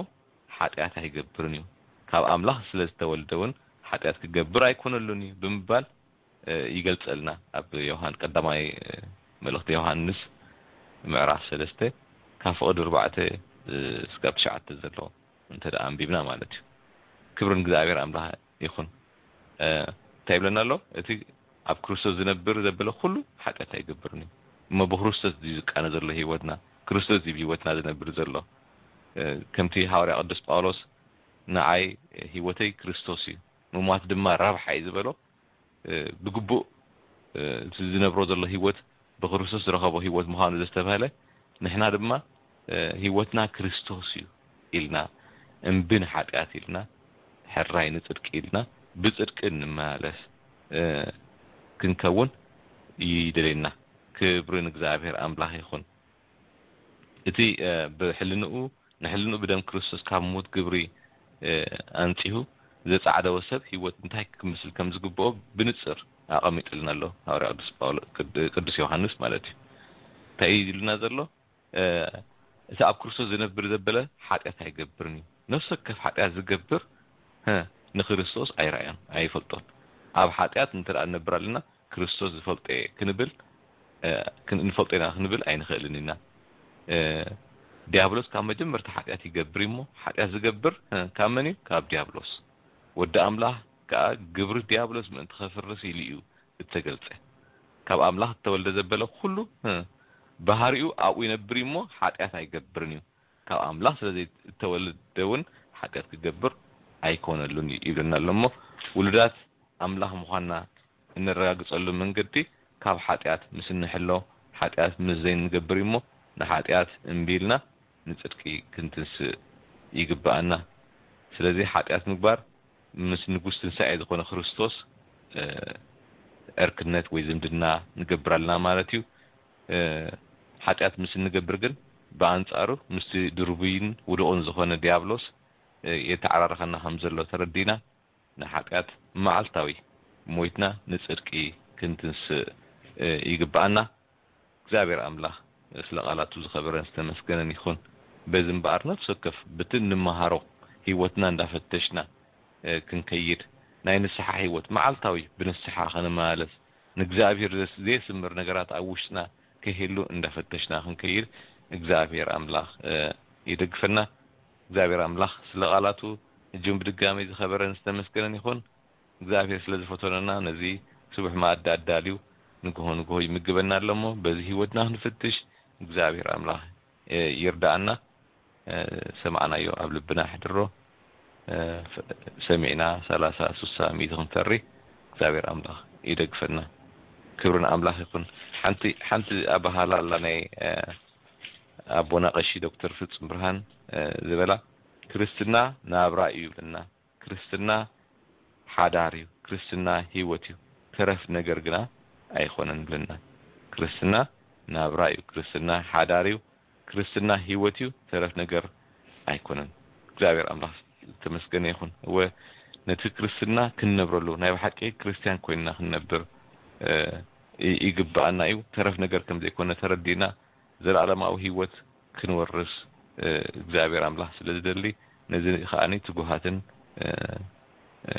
ሓጢኣት ኣይገብርን እዩ። ካብ ኣምላኽ ስለ ዝተወልደ እውን ሓጢኣት ክገብር ኣይኮነሉን እዩ ብምባል፣ እ፣ ይገልጸልና። ኣብ ዮሃን-፣ ቀዳማይ፣ እ፣ መልእኽቲ ዮሃንስ ምዕራፍ ሰለስተ ካብ ፍቕዲ ኣርባዕተ፣ እ፣ እስካብ ትሽዓተ ዘሎ እንተ ደኣ ኣንቢብና ማለት እዩ። ክብሪ ንእግዚኣብሔር ኣምላኽ ይኹን። እ፣ እንታይ ይብለና ኣሎ? እቲ ኣብ ክርስቶስ ዝነብር ዘበለ ኩሉ ሓጢኣት ኣይገብርን እዩ። እሞ ብክርስቶስ ድዩ ዝቃነ ዘሎ ህይወትና? ክርስቶስ ድዩ ብህይወትና ዝነብር ዘሎ? እ፣ ከምቲ ሃዋርያ ቅዱስ ጳውሎስ፣ "ንዓይ ህይወተይ ክርስቶስ እዩ፣ ምሟት ድማ ረብሓ እዩ" ዝበሎ፣ እ፣ ብግቡእ፣ እ፣ እቲ ዝነብሮ ዘሎ ህይወት ብክርስቶስ ዝረኸቦ ህይወት ምዃኑ ዘስተብሃለ፣ ንሕና ድማ፣ እ፣ ህይወትና ክርስቶስ እዩ ኢልና፣ እምቢ ንሓጢኣት ኢልና፣ ሕራይ ንጽድቂ ኢልና፣ ብጽድቂ እንመላለስ፣ እ፣ ክንከውን ይደልየና። ክብሪ ንእግዚኣብሔር ኣምላኽ ይኹን። እቲ፣ እ፣ ብሕልንኡ፣ ንሕልንኡ ብደም ክርስቶስ ካብ ምዉት ግብሪ፣ እ፣ ኣንጺሁ ዘጻዕደወ ሰብ ህይወት እንታይ ክምስል ከም ዝግብኦ ብንጽር ኣቐሚጥልና ኣሎ ሃዋርያ ቅዱስ ጳውሎ-፣ ቅድ-፣ ቅዱስ ዮሃንስ ማለት እዩ። እንታይ እዩ ኢሉና ዘሎ? እ፣ እቲ ኣብ ክርስቶስ ዝነብር ዘበለ ሓጢኣት ኣይገብርን እዩ። ነፍሲ ወከፍ ሓጢኣት ዝገብር፣ ሀ፣ ንክርስቶስ ኣይረኣዮን፣ ኣይፈልጦን። ኣብ ሓጢኣት እንተ ደኣ ንነብር ኣለና፣ ክርስቶስ ዝፈልጦ እየ ክንብል፣ እ፣ ክን-፣ ንፈልጦ ኢና ክንብል ኣይንኽእልን ኢና። እ፣ ዲያብሎስ ካብ መጀመርታ ሓጢኣት ይገብር እዩ እሞ፣ ሓጢኣት ዝገብር፣ እ፣ ካብ መን እዩ? ካብ ዲያብሎስ። ወዲ ኣምላኽ ከኣ ግብሪ ዲያብሎስ ምእንቲ ኸፍርስ ኢሉ እዩ እተገልጸ። ካብ ኣምላኽ እተወልደ ዘበለ ኹሉ፣ እ፣ ባህሪኡ ኣብኡ ይነብር እዩ እሞ፣ ሓጢኣት ኣይገብርን እዩ። ካብ ኣምላኽ ስለ ዘይእተወልደ እውን ሓጢኣት ክገብር ኣይኮነሉን እዩ ይብለና ኣሎ እሞ፣ ውሉዳት ኣምላኽ ምዃንና እነረጋግጸሉ መንገዲ ካብ ሓጢኣት ምስ እንሕሎ፣ ሓጢኣት ምስ ዘይንገብር እዩ እሞ፣ ንሓጢኣት እምቢ ኢልና ንጽድቂ ክንትንስእ ይግብኣና። ስለዚ ሓጢኣት ምግባር ምስ ንጉስ ትንሳኤ ዝኾነ ክርስቶስ፣ እ፣ ዕርክነት ወይ ዝምድና ንገብር ኣለና ማለት እዩ። እ፣ ሓጢኣት ምስ እንገብር ግን ብኣንጻሩ ምስቲ ድርቡይን ውዱቕን ዝኾነ ዲያብሎስ፣ እ፣ የተዓራርኸና ከም ዘሎ ተረዲና ንሓጢኣት መዓልታዊ ሞይትና ንጽድቂ ክንትንስእ፣ እ፣ ይግብኣና። እግዚኣብሔር ኣምላኽ ስለ ቃላቱ ዝኸበረን ዝተመስገነን ይኹን። በዚ እምበኣር ነፍሲ ወከፍ ብቲ እንመሃሮ ህይወትና እንዳፈተሽና፣ እ፣ ክንከይድ፣ ናይ ንስሓ ህይወት መዓልታዊ ብንስሓ ክንመላለስ፣ ንእግዚኣብሔር ዘስ-፣ ዘየስምር ነገራት ኣብ ውሽጥና ከይህሉ እንዳፈተሽና ክንከይድ እግዚኣብሔር ኣምላኽ፣ እ፣ ይደግፈና። እግዚኣብሔር ኣምላኽ ስለ ቃላቱ እጅም ብድጋሚ ዝኸበረን ዝተመስገነን ይኹን። እግዚኣብሔር ስለ ዝፈተነና ነዚ ስቡሕ መኣዲ ኣዳልዩ ንግሆ ንግሆ ይምግበና ኣሎ እሞ በዚ ህይወትና ክንፍትሽ እግዚኣብሔር ኣምላኽ፣ እ፣ ይርዳኣና። እ፣ ሰማዕናዮ ኣብ ልብና ኣሕድሮ። እ፣ ፈ-፣ ሰሚዕና ሰላሳ፣ ስሳ፣ ሚእቲ ክንፈሪ እግዚኣብሔር ኣምላኽ ይደግፈና። ክብሪ ንኣምላኽ ይኹን። ሓንቲ፣ ሓንቲ ኣበሃህላ ኣላ ናይ፣ እ፣ ኣቦና ቀሺ ዶክተር ፍጹም ብርሃን፣ እ፣ ዝበላ፣ "ክርስትና ናብራ እዩ" ይብለና። "ክርስትና ሓዳር እዩ፣ ክርስትና ህይወት እዩ፣ ተረፍ ነገር ግና ኣይኮነን" ይብለና። ክርስትና ናብራ እዩ፣ ክርስትና ሓዳር እዩ፣ ክርስትና ህይወት እዩ፣ ተረፍ ነገር ኣይኮነን። እግዚኣብሔር ኣምላኽ ዝተመስገነ ይኹን። እወ፣ ነቲ ክርስትና ክንነብረሉ፣ ናይ ብሓቂ ክርስትያን ኮይንና ክንነብር፣ እ፣ ይ-፣ ይግብኣና እዩ። ተረፍ ነገር ከም ዘይኮነ ተረዲእና፣ ዘላለማዊ ህይወት ክንወርስ፣ እ፣ እግዚኣብሔር ኣምላኽ ስለ ዝደሊ፣ ነዚ ከኣኒ ትጉሃትን፣ እ፣ እ፣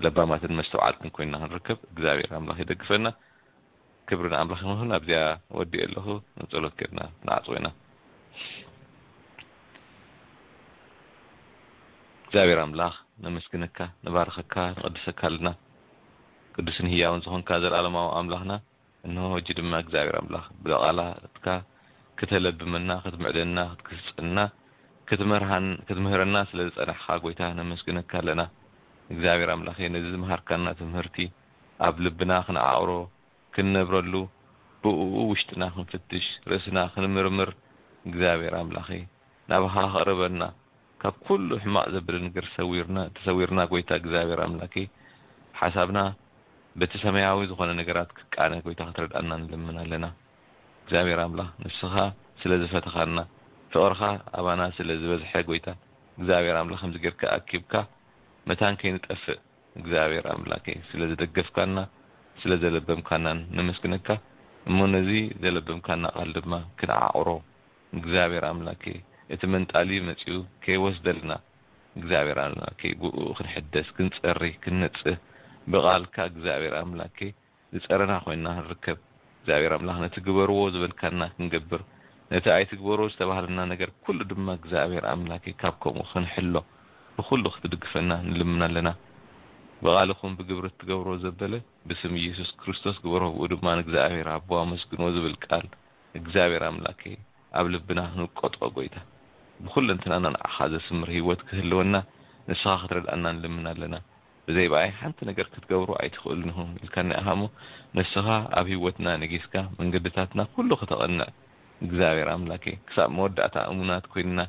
ለባማትን መስተውዓልትን ኮይንና ክንርከብ እግዚኣብሔር ኣምላኽ ይደግፈና። ክብሪ ንኣምላኽ ይኹን። ኣብዚኣ ወዲኤ ኣለኹ። ንጸሎት ጌርና ንዓጽዎ ኢና። እግዚኣብሔር ኣምላኽ ነመስግነካ፣ ንባርኸካ፣ ንቐድሰካ ኣለና። ቅዱስን ህያውን ዝኾንካ ዘላለማዊ ኣምላኽና፣ እንሆ ሕጂ ድማ እግዚኣብሔር ኣምላኽ ብቓላትካ ክተለብመና፣ ክትምዕደና፣ ክትግስጸና፣ ክትመርሃን-፣ ክትምህረና ስለ ዝጸናሕካ ጎይታ ነመስግነካ ኣለና። እግዚኣብሔር ኣምላኸ ነዚ ዝመሃርካና ትምህርቲ ኣብ ልብና ክንዓቕሮ፣ ክንነብረሉ፣ ብእኡ ውሽጥና ክንፍትሽ፣ ርእስና ክንምርምር፣ እግዚኣብሔር ኣምላኸ ናባኻ ከቕርበና፣ ካብ ኩሉ ሕማቕ ዘብል ነገር ሰዊርና፣ ተሰዊርና፣ ጎይታ እግዚኣብሔር ኣምላኬ፣ ሓሳብና በቲ ሰማያዊ ዝኾነ ነገራት ክቃነ፣ ጎይታ፣ ክትረድኣና ንልምን ኣለና። እግዚኣብሔር ኣምላኽ፣ ንስኻ ስለ ዝፈተኻና፣ ፍቕርኻ ኣባና ስለ ዝበዝሐ፣ ጎይታ፣ እግዚኣብሔር ኣምላኽ፣ ከምዚ ጌርካ ኣኪብካ፣ መታን ከይንጠፍእ፣ እግዚኣብሔር ኣምላኬ፣ ስለ ዝደገፍካና፣ ስለ ዘለበምካናን ነመስግነካ። እሞ ነዚ ዘለበምካና ቃል ድማ ክንዓቕሮ፣ እግዚኣብሔር ኣምላኬ፣ እቲ መንጣሊ መጺኡ ከይወስደልና፣ እግዚኣብሔር ኣምላኬ፣ ብኡ ክንሕደስ፣ ክንጸሪ፣ ክንነጽህ፣ ብቓልካ እግዚኣብሔር ኣምላኬ ዝጸረና ኮይንና ክንርከብ፣ እግዚኣብሔር ኣምላኽ፣ ነቲ ግበርዎ ዝበልካና ክንገብር፣ ነቲ ኣይትግበርዎ ዝተባህለና ነገር ኩሉ ድማ እግዚኣብሔር ኣምላኬ ካብ ከምኡ ክንሕሎ ብኹሉ ክትድግፈና ንልምን ኣለና። ብቓልኹም ብግብሪ እትገብርዎ ዘበለ ብስም ኢየሱስ ክርስቶስ ግበሮ፣ ብኡ ድማ ንእግዚኣብሔር ኣቦ ኣመስግንዎ ዝብል ቃል እግዚኣብሔር ኣምላኬ ኣብ ልብና ክንውቀጦ፣ ጎይታ፣ ብኹለንትናና ንዓኻ ዘስምር ህይወት ክህልወና ንስኻ ክትረድኣና ንልምን ኣለና። ብዘይ ብኣይ ሓንቲ ነገር ክትገብሩ ኣይትኽእሉን ኢኹም ኢልካና ኢኻ እሞ፣ ንስኻ ኣብ ህይወትና ነጊስካ መንገድታትና ኩሉ ክተቐንዕ እግዚኣብሔር ኣምላኬ፣ ክሳብ መወዳእታ እሙናት ኮይንና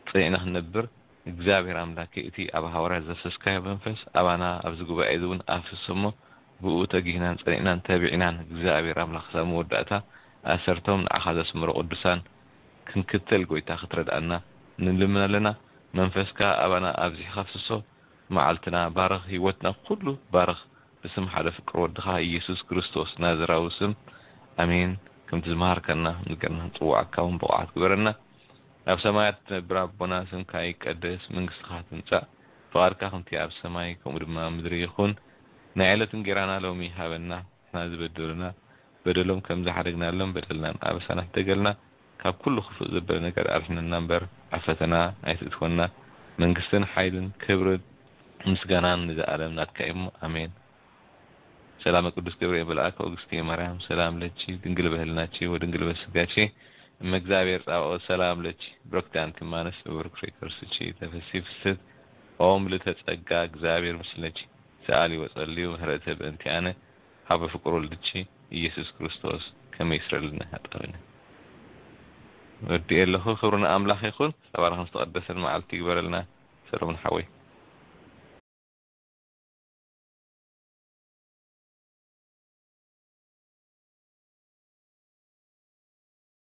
ጸኒዕና ክንነብር እግዚኣብሔር ኣምላኬ፣ እቲ ኣብ ሃዋርያት ዘፍሰስካዮ መንፈስ ኣባና ኣብዚ ጉባኤ እዚ እውን ኣፍስስ እሞ፣ ብኡ ተጊህናን ጸኒዕናን ተቢዕናን እግዚኣብሔር ኣምላኽ ክሳብ መወዳእታ ኣሰርቶም ንዓኻ ዘስምሩ ቅዱሳን ክንክተል ጎይታ ክትረድኣና ንልምን ኣለና። መንፈስካ ኣባና ኣብዚሕካ ኣፍስሶ። መዓልትና ባርኽ፣ ህይወትና ኩሉ ባርኽ። ብስም ሓደ ፍቅር ወድኻ ኢየሱስ ክርስቶስ ናዝራዊ ስም፣ ኣሜን። ከምቲ ዝመሃርከና ንገርና ንጽዋዓካ እውን ብቑዓት ግበረና። ኣብ ሰማያት ትነብር ኣቦና፣ ስምካ ይቀደስ፣ መንግስትኻ ትምጻእ፣ ፍቓድካ ከምቲ ኣብ ሰማይ ከምኡ ድማ ኣብ ምድሪ ይኹን። ናይ ዕለት እንጌራና ሎሚ ሃበና፣ ንሕና ዝበደሉና በደሎም ከም ዝሓደግናሎም በደልናን ኣበሳና ሕደገልና፣ ካብ ኩሉ ክፉእ ዘበለ ነገር ኣድሕነና እምበር፣ ኣብ ፈተና ኣይትእትወና። መንግስትን ሓይልን ክብርን ምስጋናን ንዘኣለም ናትካ እዩ። ኣሜን። ሰላም ቅዱስ ገብርኤል መልአክ ኦግስቲ ማርያም ሰላም ለኪ ድንግል በህልናኪ ወድንግል በስጋኪ እመ እግዚአብሔር ጻባኦት ሰላም ለኪ ብሩክቲ ኣንቲ እማንስ ብብሩክ ፍሬ ከርስኪ ተፈሲ ፍስት ኦም ልተጸጋ እግዚአብሔር ምስለኪ ሰኣሊ ወጸልዩ ምህረተ በእንቲኣነ ሀበ ፍቅር ወልድኪ ኢየሱስ ክርስቶስ ከመ ይስረልና ሀጣብነ ወዲ ኣለኹ። ክብሪ ንኣምላኽ ይኹን። ተባረኽን ዝተቐደሰን መዓልቲ ይግበረልና ሰሎሞን ሓወይ።